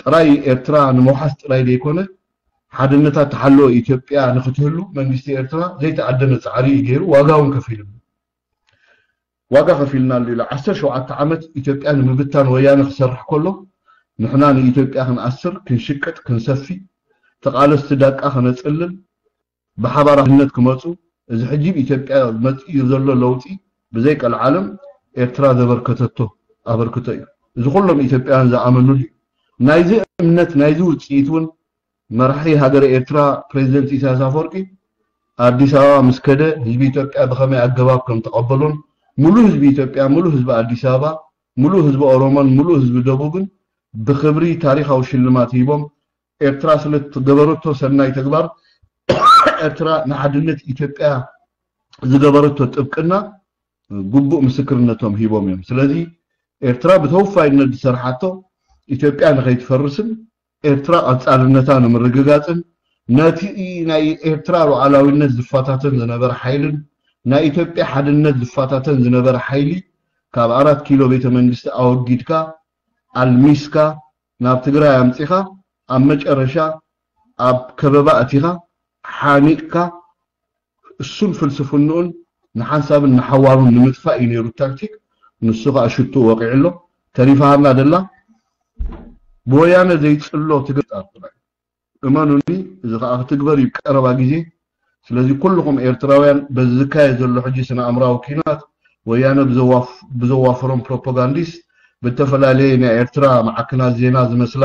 ጥራይ ኤርትራ ንምውሓስ ጥራይ ዘይኮነ፣ ሓድነታ ተሓለወ ኢትዮጵያ ንክትህሉ መንግስቲ ኤርትራ ዘይተኣደነ ጻዕሪ እዩ ገይሩ፣ ዋጋ እውን ከፊሉ። ዋጋ ከፊልናሉ ኢሉ ዓሰርተ ሸውዓተ ዓመት ኢትዮጵያ ንምብታን ወያነ ክሰርሕ ከሎ፣ ንሕና ንኢትዮጵያ ክንኣስር፣ ክንሽቅጥ፣ ክንሰፊ፣ ተቓለስቲ ዳቃ ከነጽልል፣ ብሓባር ሓድነት ክመጹ፣ እዚ ሕጂ ኣብ ኢትዮጵያ መጺኡ ዘሎ ለውጢ ብዘይ ቀልዓለም ኤርትራ ዘበርከተቶ ኣበርክቶ እዩ። እዚ ኩሎም ኢትዮጵያውያን ዝኣመኑሉ እዩ። ናይዚ እምነት፣ ናይዚ ውጽኢት እውን መራሒ ሃገረ ኤርትራ ፕሬዚደንት ኢሳያስ ኣፈወርቂ ኣዲስ ኣበባ ምስ ከደ ህዝቢ ኢትዮጵያ ብኸመይ ኣገባብ ከም ተቐበሎን፣ ሙሉእ ህዝቢ ኢትዮጵያ፣ ሙሉእ ህዝቢ ኣዲስ ኣበባ፣ ሙሉእ ህዝቢ ኦሮሞን ሙሉእ ህዝቢ ደቡብን ብኽብሪ ታሪኻዊ ሽልማት ሂቦም፣ ኤርትራ ስለ ዝገበረቶ ሰናይ ተግባር፣ ኤርትራ ንሓድነት ኢትዮጵያ ዝገበረቶ ጥብቅና ግቡእ ምስክርነቶም ሂቦም እዮም። ስለዚ ኤርትራ ብተወፋይነት ዝሰርሓቶ ኢትዮጵያ ንኸይትፈርስን ኤርትራ ቀጻልነታ ንምርግጋጽን ነቲ ናይ ኤርትራ ሉዓላዊነት ዝፈታተን ዝነበረ ሓይልን ናይ ኢትዮጵያ ሓድነት ዝፈታተን ዝነበረ ሓይሊ ካብ ኣራት ኪሎ ቤተ መንግስቲ ኣወጊድካ ኣልሚስካ ናብ ትግራይ ኣምጺኻ ኣብ መጨረሻ ኣብ ከበባ ኣቲኻ ሓኒቕካ እሱን ፍልስፍንኡን ንሓንሳብን ንሓዋሩን ንምጥፋእ እዩ ነይሩ ታክቲክ። ንሱ ከዓ ሽቱ ወቂዑ ኣሎ። ተሪፋሃና ደላ ብወያነ ዘይፅሎ ትግርጣር ጥራይ። እመኑኒ፣ እዚ ከዓ ክትግበር እዩ ቀረባ ግዜ። ስለዚ ኩልኹም ኤርትራውያን በዚ ዝካየድ ዘሎ ሕጂ ስነ ኣእምራዊ ኪናት ወያነ ብዘዋፍ- ብዘዋፈሮም ፕሮፓጋንዲስት ብተፈላለየ ናይ ኤርትራ ማዕክናት ዜና ዝመስላ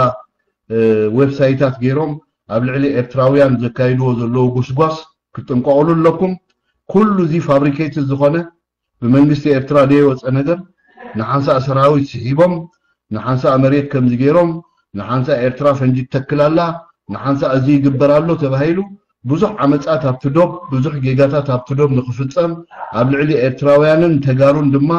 እ፣ ዌብሳይታት ገይሮም ኣብ ልዕሊ ኤርትራውያን ዘካይድዎ ዘለዉ ጎስጓስ ክትጥንቀቑሉ ኣለኩም። ኩሉ እዚ ፋብሪኬትድ ዝኾነ ብመንግስቲ ኤርትራ ዘይወፀ ነገር ንሓንሳእ ሰራዊት ስሒቦም ንሓንሳእ መሬት ከምዚ ገይሮም ንሓንሳእ ኤርትራ ፈንጂ ትተክል ኣላ ንሓንሳእ እዚ ይግበር ኣሎ ተባሂሉ ብዙሕ ዓመፃት ኣብቲ ዶብ ብዙሕ ጌጋታት ኣብቲ ዶብ ንክፍፀም ኣብ ልዕሊ ኤርትራውያንን ተጋሩን ድማ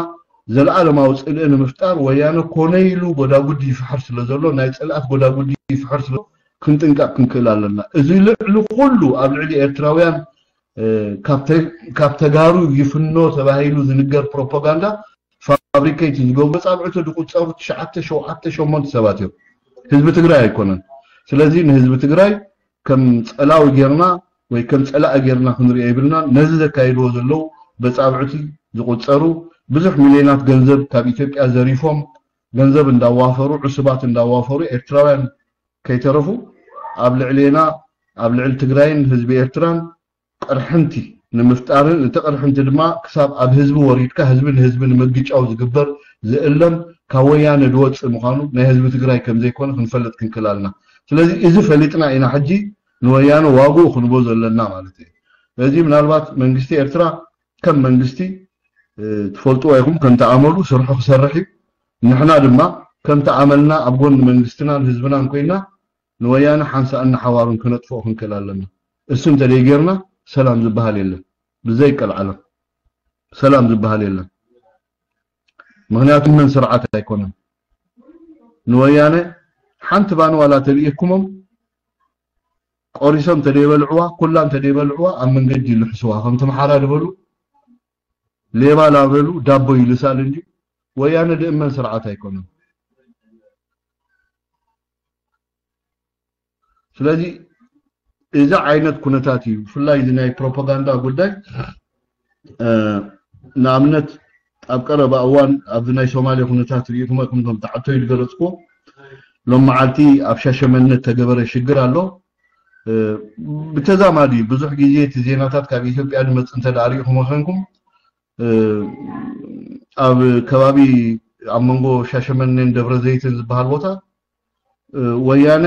ዘለኣለማዊ ፅልኢ ንምፍጣር ወያነ ኮነ ኢሉ ጎዳጉዲ ይፍሕር ስለ ዘሎ ናይ ፅልኣት ጎዳጉዲ ይፍሕር ስለ ክንጥንቀቕ ክንክእል ኣለና። እዚ ልዕሊ ኩሉ ኣብ ልዕሊ ኤርትራውያን ካብ ተጋሩ ይፍኖ ተባሂሉ ዝንገር ፕሮፓጋንዳ ፋብሪኬት ዝገብሩ መጻብዕቲ ዝቁጸሩ ትሽዓተ ሸውዓተ ሸሞንተ ሰባት እዮም። ህዝቢ ትግራይ ኣይኮነን። ስለዚ ንህዝቢ ትግራይ ከም ጸላዊ ጌርና ወይ ከም ጸላኢ ጌርና ክንሪኦ ይብልና። ነዚ ዘካይድዎ ዘለዉ በጻብዕቲ ዝቁጸሩ ብዙሕ ሚልዮናት ገንዘብ ካብ ኢትዮጵያ ዘሪፎም ገንዘብ እንዳዋፈሩ ዕሱባት እንዳዋፈሩ ኤርትራውያን ከይተረፉ ኣብ ልዕሌና ኣብ ልዕሊ ትግራይን ህዝቢ ኤርትራን ቅርሕንቲ ንምፍጣርን እቲ ቅርሕንቲ ድማ ክሳብ ኣብ ህዝቢ ወሪድካ ህዝቢ ንህዝቢ ንምግጫው ዝግበር ዝእለም ካብ ወያነ ዝወፅእ ምዃኑ ናይ ህዝቢ ትግራይ ከምዘይኮነ ክንፈልጥ ክንክል ኣለና። ስለዚ እዚ ፈሊጥና ኢና ሕጂ ንወያነ ዋግኡ ክንቦ ዘለና ማለት እዩ። ስለዚ ምናልባት መንግስቲ ኤርትራ ከም መንግስቲ ትፈልጥዎ ኢኹም ከምቲ ኣመሉ ስርሑ ክሰርሕ እዩ። ንሕና ድማ ከምቲ ኣመልና ኣብ ጎኒ መንግስትናን ህዝብናን ኮይና ንወያነ ሓንሳእን ንሓዋሩን ክነጥፍኦ ክንክእል ኣለና። እሱ እንተደይ ጌርና ሰላም ዝበሃል የለን። ብዘይ ቀልዓለም ሰላም ዝበሃል የለን። ምክንያቱ መን ስርዓት ኣይኮነን። ንወያነ ሓንቲ ባን ዋላ ተልኢኩሞም ቆሪሶም ተደይበልዕዋ ኩላ እንተደይበልዕዋ ኣብ መንገዲ ይልሕስዋ ከምቲ መሓራ ዝበሉ ሌባ ላበሉ ዳቦ ይልሳል እንጂ ወያነ ድእመን ስርዓት ኣይኮነን። ስለዚ እዚ ዓይነት ኩነታት እዩ ብፍላይ እዚ ናይ ፕሮፓጋንዳ ጉዳይ ንኣብነት ኣብ ቀረባ እዋን ኣብዚ ናይ ሶማሌ ኩነታት ርኢኹም ኢኹም ከም ተዓቶ ይገለፅኩ ሎም መዓልቲ ኣብ ሻሸመነ ተገበረ ሽግር ኣሎ ብተዛማዲ ብዙሕ ግዜ እቲ ዜናታት ካብ ኢትዮጵያ ዝመፅ እንተ ርኢኹም ኮይንኩም ኣብ ከባቢ ኣብ መንጎ ሻሸመኔን ደብረ ዘይትን ዝበሃል ቦታ ወያነ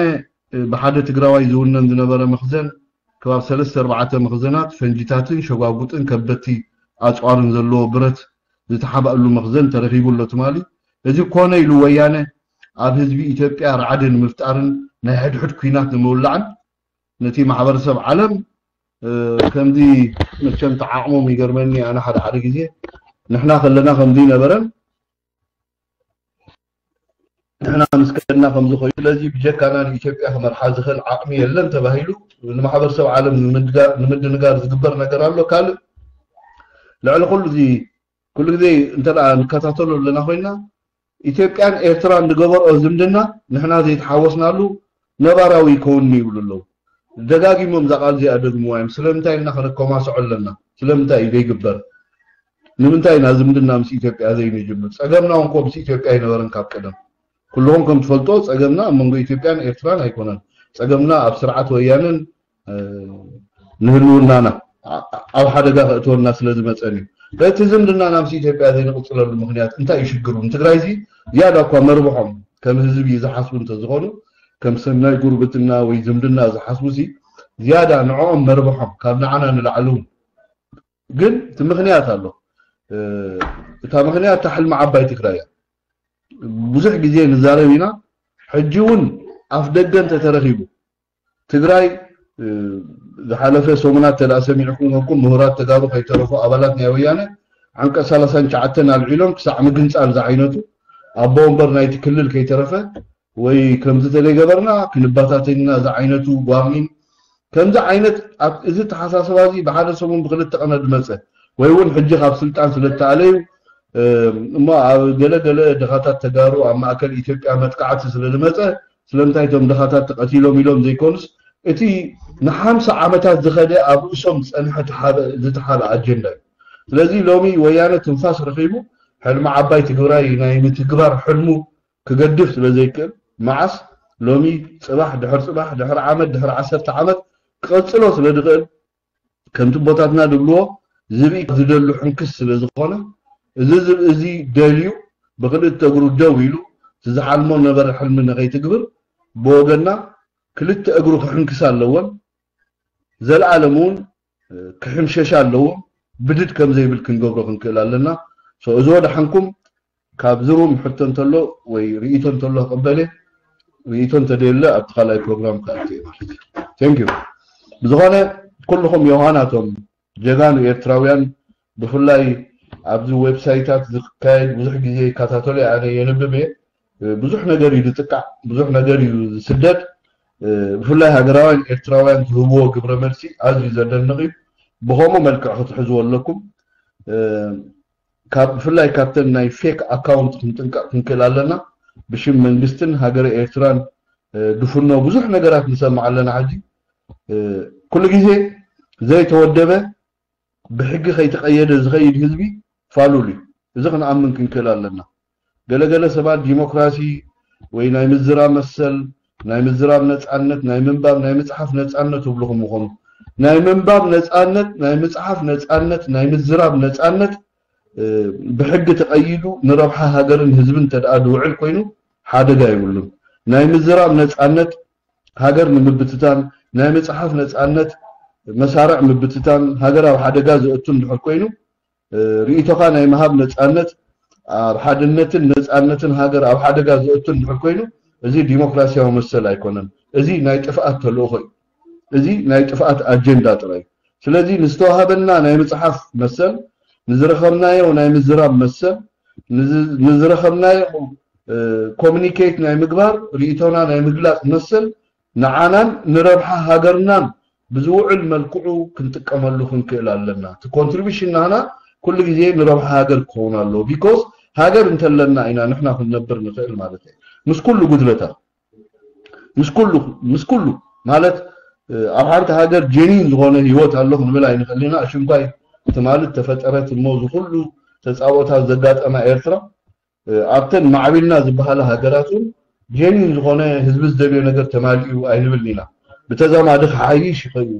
ብሓደ ትግራዋይ ዝውነን ዝነበረ መኽዘን ከባብ ሰለስተ ኣርባዕተ መኽዘናት ፈንጂታትን ሸጓጉጥን ከበድቲ ኣፅዋርን ዘለዎ ብረት ዝተሓባእሉ መኽዘን ተረኺቡ ኣሎ ትማሊ። እዚ ኮነ ኢሉ ወያነ ኣብ ህዝቢ ኢትዮጵያ ራዕዲ ንምፍጣርን ናይ ሕድሕድ ኲናት ንምውላዕን ነቲ ማሕበረሰብ ዓለም ከምዚ መቸም ተዓቕሞም ይገርመኒ ኣነ ሓደ ሓደ ግዜ ንሕና ከለና ከምዚ ነበረን ንሕና ምስ ከድና ከምዚ ኮይኑ ስለዚ ብጀካና ንኢትዮጵያ ክመርሓ ዝኽእል ዓቕሚ የለን ተባሂሉ ንማሕበረሰብ ዓለም ንምድንጋር ዝግበር ነገር ኣሎ ካልእ ልዕሊ ኩሉ እዚ ኩሉ ግዜ እንተ ንከታተሎ ኣለና ኮይና ኢትዮጵያን ኤርትራን ዝገበርኦ ዝምድና ንሕና ዘይተሓወስናሉ ነባራዊ ይከውንኒ ይብሉ ኣለዉ። ደጋጊሞም እዛ ቃል እዚኣ ደግምዋ እዮም። ስለምንታይ ኢና ከነከማስዖ ኣለና? ስለምንታይ እዩ ዘይግበር? ንምንታይ ኢና ዝምድና ምስ ኢትዮጵያ ዘይንጅምር? ጸገምና እውን ኮ ምስ ኢትዮጵያ ኣይነበረን ካብ ቀደም። ኩልኹም ከም ትፈልጦ ጸገምና ኣብ መንጎ ኢትዮጵያን ኤርትራን ኣይኮነን። ጸገምና ኣብ ስርዓት ወያነን ንህልውናና ኣብ ሓደጋ ከእትወና ስለ ዝመፀን እዩ። በቲ ዝምድናና ምስ ኢትዮጵያ ዘይንቕፅለሉ ምክንያት እንታይ እዩ ሽግሩ? ንትግራይ ዚ ዝያዳ እኳ መርብሖም ከም ህዝቢ ዝሓስቡ እንተዝኾኑ ከም ሰናይ ጉርብትና ወይ ዝምድና ዝሓስቡ ሲ ዝያዳ ንዕኦም መርብሖም ካብ ንዓና ንላዕሊ እውን። ግን እቲ ምኽንያት ኣሎ። እታ ምኽንያት እታ ሕልሚ ዓባይ ትግራይ እያ። ብዙሕ ግዜ ንዛረብ ኢና። ሕጂ እውን ኣፍ ደገ እንተተረኺቡ ትግራይ ዝሓለፈ ሰሙናት ተዳ ሰሚዕኩም ከኩም ምሁራት ተጋሩ ከይተረፉ ኣባላት ናይ ወያነ ዓንቀ ሰላሳን ትሽዓተን ኣልዒሎም ክሳዕ ምግንፃል ዝዓይነቱ ኣቦ ወንበር ናይቲ ክልል ከይተረፈ ወይ ከምዚ ተዘይገበርና ክንባታተን ኢና ዝዓይነቱ ጓርኒን ከምዚ ዓይነት ኣብ እዚ ተሓሳስባ እዚ ብሓደ ሰሙን ብክልተ ቀነ ዝመፀ ወይ እውን ሕጂ ካብ ስልጣን ስለ ተኣለዩ እሞ ኣብ ገለ ገለ ድኻታት ተጋሩ ኣብ ማእከል ኢትዮጵያ መጥቃዕቲ ስለ ዝመፀ ስለምንታይ እቶም ድኻታት ተቐቲሎም ኢሎም ዘይኮኑስ እቲ ንሓምሳ ዓመታት ዝኸደ ኣብ ርእሶም ዝፀንሐ ዝተሓበ ኣጀንዳ እዩ። ስለዚ ሎሚ ወያነ ትንፋስ ረኺቡ ሕልሚ ዓባይ ትግራይ ናይ ምትግባር ሕልሙ ክገድፍ ስለ ዘይክእል መዓስ ሎሚ ፅባሕ ድሕር ፅባሕ ድሕር ዓመት ድሕር ዓሰርተ ዓመት ክቐፅሎ ስለ ዝኽእል ከምቲ ኣቦታትና ዝብልዎ ዝብኢ ዝደሉ ሕንክስ ስለ ዝኾነ እዚ ዝብኢ እዚ ደልዩ ብክልተ እግሩ ደው ኢሉ እቲ ዝሓልሞ ነበረ ሕልሚ ንኸይትግብር ብወገንና ክልተ እግሩ ክሕንክስ ኣለዎን ዘለኣለም እውን ክሕምሸሽ ኣለዎ። ብድድ ከም ዘይብል ክንገብሮ ክንክእል ኣለና። እዚ ወደሓንኩም ካብዚ ሩም ሕቶ እንተሎ ወይ ርእይቶ እንተሎ ክቕበል እየ። ርእይቶ እንተደየለ ኣብቲ ካልኣይ ፕሮግራም ክኣቱ እየ ማለት እዩ። Thank you። ብዝኾነ ኩልኹም ዮሃናቶም ጀጋኑ ኤርትራውያን ብፍላይ ኣብዚ ዌብሳይታት ዝካየድ ብዙሕ ግዜ ይከታተሎ እየ፣ ኣነ የንብብ እየ። ብዙሕ ነገር እዩ ዝጥቃዕ፣ ብዙሕ ነገር እዩ ዝስደድ። ብፍላይ ሃገራውያን ኤርትራውያን ዝህብዎ ግብረ መልሲ ኣዝዩ ዘደንቕ እዩ። ብኸምኡ መልክዕ ክትሕዝዎ ኣለኩም። ካብ ብፍላይ ካብተን ናይ ፌክ ኣካውንት ክንጥንቀቕ ክንክእል ኣለና። ብሽም መንግስትን ሃገረ ኤርትራን ድፍኖ ብዙሕ ነገራት ንሰምዕ ኣለና። ሕጂ ኩሉ ግዜ ዘይተወደበ ብሕጊ ከይተቐየደ ዝኸይድ ህዝቢ ፋሉል እዩ። እዚ ክንኣምን ክንክእል ኣለና። ገለገለ ሰባት ዲሞክራሲ ወይ ናይ ምዝራብ መሰል፣ ናይ ምዝራብ ነፃነት፣ ናይ ምንባብ ናይ ምፅሓፍ ነፃነት ትብልኹም ምኾኑ ናይ ምንባብ ነፃነት፣ ናይ ምፅሓፍ ነፃነት፣ ናይ ምዝራብ ነፃነት ብሕጊ ተቐይዱ ንረብሓ ሃገርን ህዝብን እንተደኣ ዝውዕል ኮይኑ ሓደጋ የብሉን። ናይ ምዝራብ ነፃነት ሃገር ንምብትታን፣ ናይ ምፅሓፍ ነፃነት መሳርዕ ምብትታን ሃገር ኣብ ሓደጋ ዘእቱ እንድሕር ኮይኑ ርእይቶኻ ናይ ምሃብ ነፃነት ኣብ ሓድነትን ነፃነትን ሃገር ኣብ ሓደጋ ዘእቱ እንድሕር ኮይኑ እዚ ዲሞክራሲያዊ መሰል ኣይኮነን። እዚ ናይ ጥፍኣት ተልእኾ እዩ። እዚ ናይ ጥፍኣት ኣጀንዳ ጥራይ እዩ። ስለዚ ንዝተዋሃበና ናይ ምፅሓፍ መሰል ንዝረኸብናዮ ናይ ምዝራብ መሰል ንዝረኸብናዮ ኮሚኒኬት ናይ ምግባር ርእይቶና ናይ ምግላፅ መሰል ንዓናን ንረብሓ ሃገርናን ብዝውዕል መልክዑ ክንጥቀመሉ ክንክእል ኣለና። እቲ ኮንትሪቢሽን ናህና ኩሉ ግዜ ንረብሓ ሃገር ክኸውን ኣለዎ። ቢኮዝ ሃገር እንተለና ኢና ንሕና ክንነብር ንኽእል ማለት እዩ። ምስ ኩሉ ጉድለታት ምስ ኩሉ ምስ ኩሉ ማለት ኣብ ሓንቲ ሃገር ጀኒን ዝኾነ ህይወት ኣሎ ክንብል ኣይንኽእል ኢና። ሽንኳይ ትማሊ ተፈጠረት እሞ ዝኩሉ ተፃብኦታት ዘጋጠማ ኤርትራ ኣብተን ማዕቢልና ዝበሃላ ሃገራት እውን ጀኒን ዝኾነ ህዝቢ ዝደልዮ ነገር ተማሊኡ ኣይንብልን ኢና። ብተዛማዲ ክሓይሽ ይኽእል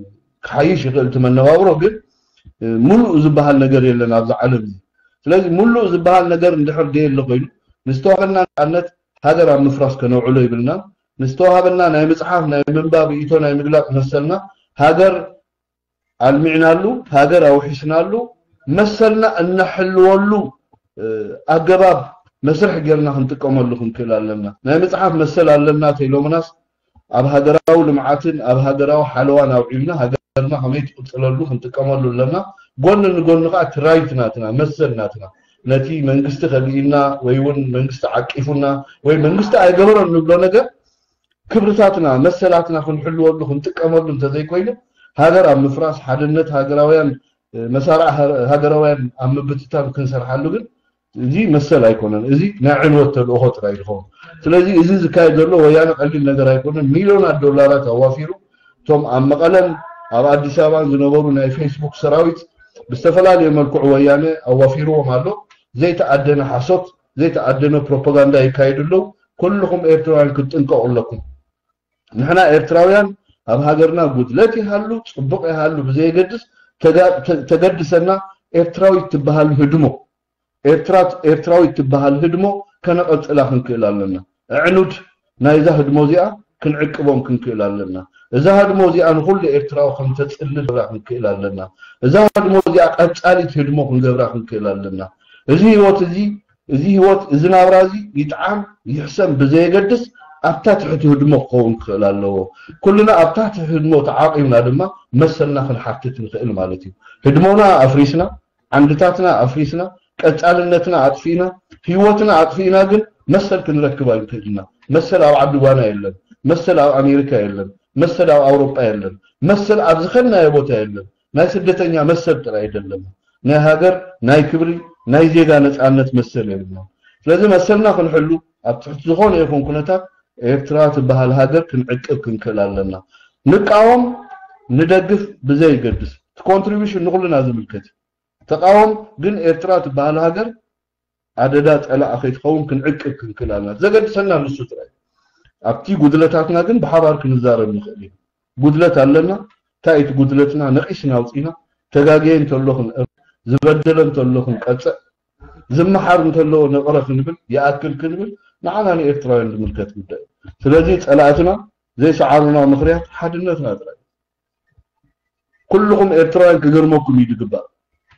ክሓይሽ ይኽእል እቲ መነባብሮ ግን ሙሉእ ዝበሃል ነገር የለን ኣብዚ ዓለም እዚ። ስለዚ ሙሉእ ዝበሃል ነገር እንድሕር ደየለ ኮይኑ ንዝተዋህበና ነፃነት ሃገር ኣብ ምፍራስ ከነውዕሎ ይብልና። ንዝተዋሃበና ናይ ምፅሓፍ ናይ ምንባብ ርእይቶ ናይ ምግላፅ መሰልና ሃገር ኣልሚዕናሉ ሃገር ኣውሒስናሉ መሰልና እነሕልወሉ ኣገባብ መስርሕ ጌርና ክንጥቀመሉ ክንክእል ኣለና። ናይ ምፅሓፍ መሰል ኣለና ተኢሎምናስ ኣብ ሃገራዊ ልምዓትን ኣብ ሃገራዊ ሓለዋን ኣውዒልና ሃገርና ከመይ ትቕፅለሉ ክንጥቀመሉ ኣለና። ጎኒ ንጎኒ ከዓ እቲ ራይት ናትና መሰል ናትና ነቲ መንግስቲ ከሊእና ወይ እውን መንግስቲ ዓቂፉና ወይ መንግስቲ ኣይገበሮን ንብሎ ነገር ክብርታትና መሰላትና ክንሕልወሉ ክንጥቀመሉ እንተዘይኮይኑ ሃገር ኣብ ምፍራስ ሓድነት ሃገራውያን መሳርዕ ሃገራውያን ኣብ ምብትታን ክንሰርሓሉ ግን እዚ መሰል ኣይኮነን። እዚ ናይ ዕንወት ተልእኾ ጥራይ ዝኸውን። ስለዚ እዚ ዝካየድ ዘሎ ወያነ ቀሊል ነገር ኣይኮነን። ሚልዮናት ዶላራት ኣዋፊሩ እቶም ኣብ መቐለን ኣብ ኣዲስ ኣበባን ዝነበሩ ናይ ፌስቡክ ሰራዊት ብዝተፈላለየ መልክዑ ወያነ ኣዋፊርዎም ኣሎ። ዘይተኣደነ ሓሶት ዘይተኣደነ ፕሮፓጋንዳ ይካየዱ ኣለዉ። ኩልኹም ኤርትራውያን ክትጥንቀቑ ኣለኩም። ንሕና ኤርትራውያን ኣብ ሃገርና ጉድለት ይሃሉ ፅቡቕ ይሃሉ ብዘየገድስ ተገድሰና ኤርትራዊት ትበሃል ህድሞ ኤርትራዊት ትበሃል ህድሞ ከነቐፅላ ክንክእል ኣለና። ኣዕኑድ ናይዛ ህድሞ እዚኣ ክንዕቅቦም ክንክእል ኣለና። እዛ ህድሞ እዚኣ ንኹሉ ኤርትራዊ ከም ተጽልል ክንገብራ ክንክእል ኣለና። እዛ ህድሞ እዚኣ ቀጻሊት ህድሞ ክንገብራ ክንክእል ኣለና። እዚ ህይወት እዚ፣ እዚ ህይወት፣ እዚ ናብራ እዚ ይጥዓም ይሕሰም ብዘየገድስ ኣብታ ትሕቲ ህድሞ ክኸውን ክኽእል ኣለዎ። ኩልና ኣብታ ትሕቲ ህድሞ ተዓቂብና ድማ መሰልና ክንሓትት ንኽእል ማለት እዩ። ህድሞና ኣፍሪስና፣ ዓንድታትና ኣፍሪስና፣ ቀጻልነትና ኣጥፊእና፣ ህይወትና ኣጥፊእና ግን መሰል ክንረክብ ኣይንክእልና። መሰል ኣብ ዓዲ ጓና የለን። መሰል ኣብ ኣሜሪካ የለን። መሰል ኣብ ኣውሮጳ የለን። መሰል ኣብ ዝኸድናዮ ቦታ የለን። ናይ ስደተኛ መሰል ጥራይ እዩ ዘለና። ናይ ሃገር፣ ናይ ክብሪ፣ ናይ ዜጋ ነጻነት መሰል የብልናን። ስለዚ መሰልና ክንሕሉ ኣብ ትሕቲ ዝኾነ ይኹን ኩነታት ኤርትራ ትበሃል ሃገር ክንዕቅብ ክንክእል ኣለና። ንቃወም ንደግፍ ብዘይገድስ፣ እቲ ኮንትሪቢሽን ንኹልና ዝምልከት እዩ። ተቃወም ግን ኤርትራ ትበሃል ሃገር ኣደዳ ጸላኢ ከይትኸውን ክንዕቅብ ክንክእል ኣለና። ዘገድሰና ንሱ ጥራይ። ኣብቲ ጉድለታትና ግን ብሓባር ክንዛረብ ንኽእል ኢና። ጉድለት ኣለና፣ እንታይ እቲ ጉድለትና ነቒስና ኣውጺና፣ ተጋግየ እንተሎ ክንእር፣ ዝበደለ እንተሎ ክንቀጽዕ፣ ዝመሓር እንተሎ ነቕረ ክንብል፣ ይኣክል ክንብል፣ ንዓና ንኤርትራውያን ዝምልከት ጉዳይ እዩ። ስለዚ ጸላእትና ዘይሰዓሩና ምኽንያት ሓድነትና ጥራይ። ኩልኹም ኤርትራውያን ክገርመኩም እዩ ዝግባእ።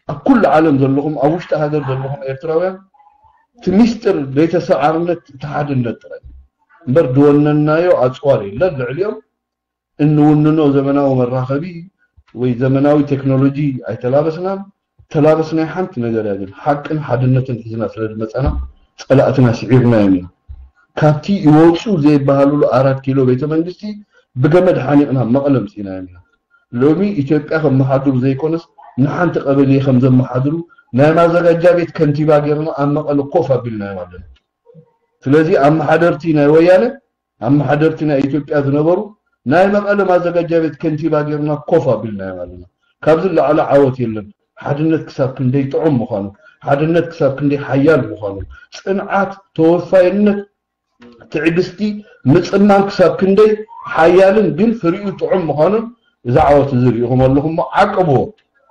ኣብ ኩሉ ዓለም ዘለኹም፣ ኣብ ውሽጢ ሃገር ዘለኹም ኤርትራውያን፣ እቲ ሚስጥር ዘይተሰዓርነት እቲ ሓድነት ጥራይ እምበር ዝወነንናዮ ኣጽዋር የለን። ልዕሊኦም እንውንኖ ዘመናዊ መራኸቢ ወይ ዘመናዊ ቴክኖሎጂ ኣይተላበስናን። ተላበስናይ ሓንቲ ነገር እያ፣ ግን ሓቅን ሓድነትን ሒዝና ስለ ዝመጻና ጸላእትና ስዒርናዮም ኢና። ካብቲ ይወጹ ዘይበሃሉሉ ኣራት ኪሎ ቤተ መንግስቲ ብገመድ ሓኒቕና መቐለ ኣምጺእናዮም ኢና። ሎሚ ኢትዮጵያ ከመሓድሩ ዘይኮነስ ንሓንቲ ቀበሌ ከም ዘመሓድሩ ናይ ማዘጋጃ ቤት ከንቲባ ጌርና ኣብ መቐለ ኮፍ ኣቢልናዮም ኣለና። ስለዚ ኣመሓደርቲ ናይ ወያነ፣ ኣመሓደርቲ ናይ ኢትዮጵያ ዝነበሩ ናይ መቐለ ማዘጋጃ ቤት ከንቲባ ጌርና ኮፍ ኣቢልናዮም ኣለና። ካብዚ ላዕሊ ዓወት የለን። ሓድነት ክሳብ ክንደይ ጥዑም ምዃኑ፣ ሓድነት ክሳብ ክንደይ ሓያል ምዃኑ፣ ጽንዓት፣ ተወፋይነት፣ ትዕግስቲ፣ ምጽማም ክሳብ ክንደይ ሓያልን ግን ፍሪኡ ጥዑም ምዃኑን እዚ ዓወት እዚ ርኢኹም ኣለኹም እሞ ዓቅብዎ።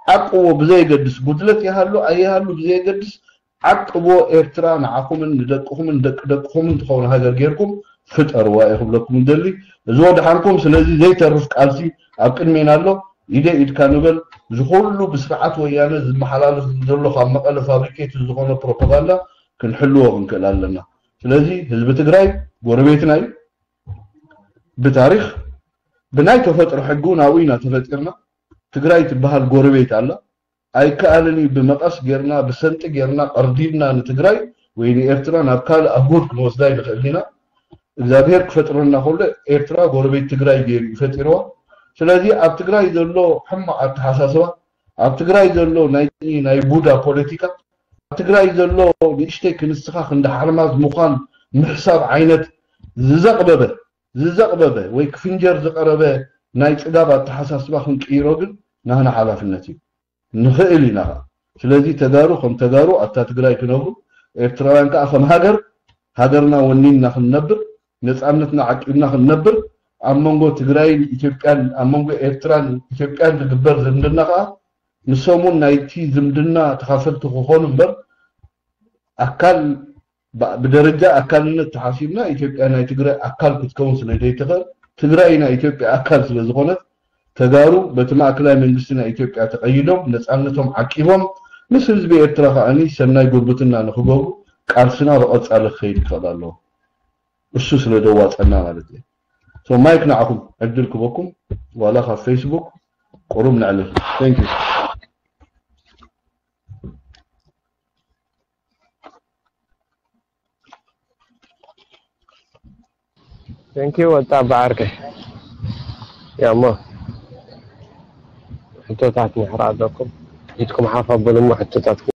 ዓቅብዎ ብዘየገድስ፣ ጉድለት ይሃሉ ኣይሃሉ ብዘየገድስ ዓቅብዎ። ኤርትራ ንዓኹምን ንደቅኹምን ደቂ ደቅኹምን ትኸውን ሃገር ጌርኩም ፍጠርዋ እየ ክብለኩም ዝደሊ። እዚ ወድሓንኩም። ስለዚ ዘይተርፍ ቃልሲ ኣብ ቅድሜና ኣሎ። ኢደ ኢድካ ንበል። እዚ ኩሉ ብስርዓት ወያነ ዝመሓላለፍ ዘሎ ካብ መቐለ ፋብሪኬት ዝኾነ ፕሮፓጋንዳ ክንሕልዎ ክንክእል ኣለና። ስለዚ ህዝቢ ትግራይ ጎረቤትና እዩ። ብታሪኽ ብናይ ተፈጥሮ ሕጊ እውን ኣብኡ ኢና ተፈጢርና። ትግራይ ትበሃል ጎረቤት ኣላ። ኣይከኣልን እዩ። ብመቐስ ጌርና፣ ብሰንጢ ጌርና፣ ቀርዲድና ንትግራይ ወይ ንኤርትራ ናብ ካልእ ኣህጉር ክንወስዳ ኣይንኽእልን ኢና። እግዚኣብሔር ክፈጥረና ከሎ ኤርትራ ጎረቤት ትግራይ ገይሩ እዩ ፈጢርዋ። ስለዚ ኣብ ትግራይ ዘሎ ሕማቕ ኣተሓሳስባ፣ ኣብ ትግራይ ዘሎ ናይ፣ ናይ ቡዳ ፖለቲካ፣ ኣብ ትግራይ ዘሎ ንእሽተይ ክንስኻ ክንዲ ሓርማዝ ምዃን ምሕሳብ ዓይነት ዝዘቕበበ፣ ዝዘቕበበ ወይ ክፍንጀር ዝቐረበ ናይ ጽጋብ ኣተሓሳስባ ክንቅይሮ ግን ናህና ሓላፍነት እዩ። ንኽእል ኢና ኸኣ። ስለዚ ተጋሩ ከም ተጋሩ ኣብታ ትግራይ ክነብሩ፣ ኤርትራውያን ከኣ ከም ሃገር፣ ሃገርና ወኒንና ክንነብር፣ ነጻነትና ዓቂብና ክንነብር፣ ኣብ መንጎ ትግራይን ኢትዮጵያን፣ ኣብ መንጎ ኤርትራን ኢትዮጵያን ዝግበር ዝምድና ከኣ ንሶም እውን ናይቲ ዝምድና ተኻፈልቲ ክኾኑ እምበር፣ ኣካል ብ-፣ ብደረጃ ኣካልነት ተሓሲብና ኢትዮጵያ ናይ ትግራይ ኣካል ክትከውን ስለ ዘይትኽእል፣ ትግራይ ናይ ኢትዮጵያ ኣካል ስለ ዝኾነት፣ ተጋሩ በቲ ማእከላይ መንግስቲ ናይ ኢትዮጵያ ተቐይዶም ነጻነቶም ዓቂቦም ምስ ህዝቢ ኤርትራ ከኣኒ ሰናይ ጉርብትና ንኽገብሩ ቃልስና ብቐጻሊ ክኸይድ ይኽእል ኣለዎ። እሱ ስለ ዘዋጸና ማለት እዩ። So ማይክ ንዓኹም ዕድል ክበኩም ዋላ ካብ ፌስቡክ ቁሩብ ነዕልል። Thank you። Thank you ወጣ ብዓርከይ። ያሞ ሕቶታት ምሕራ ኣለኩም። ኢድኩም ሓፍ ኣበሉ እሞ ሕቶታትኩም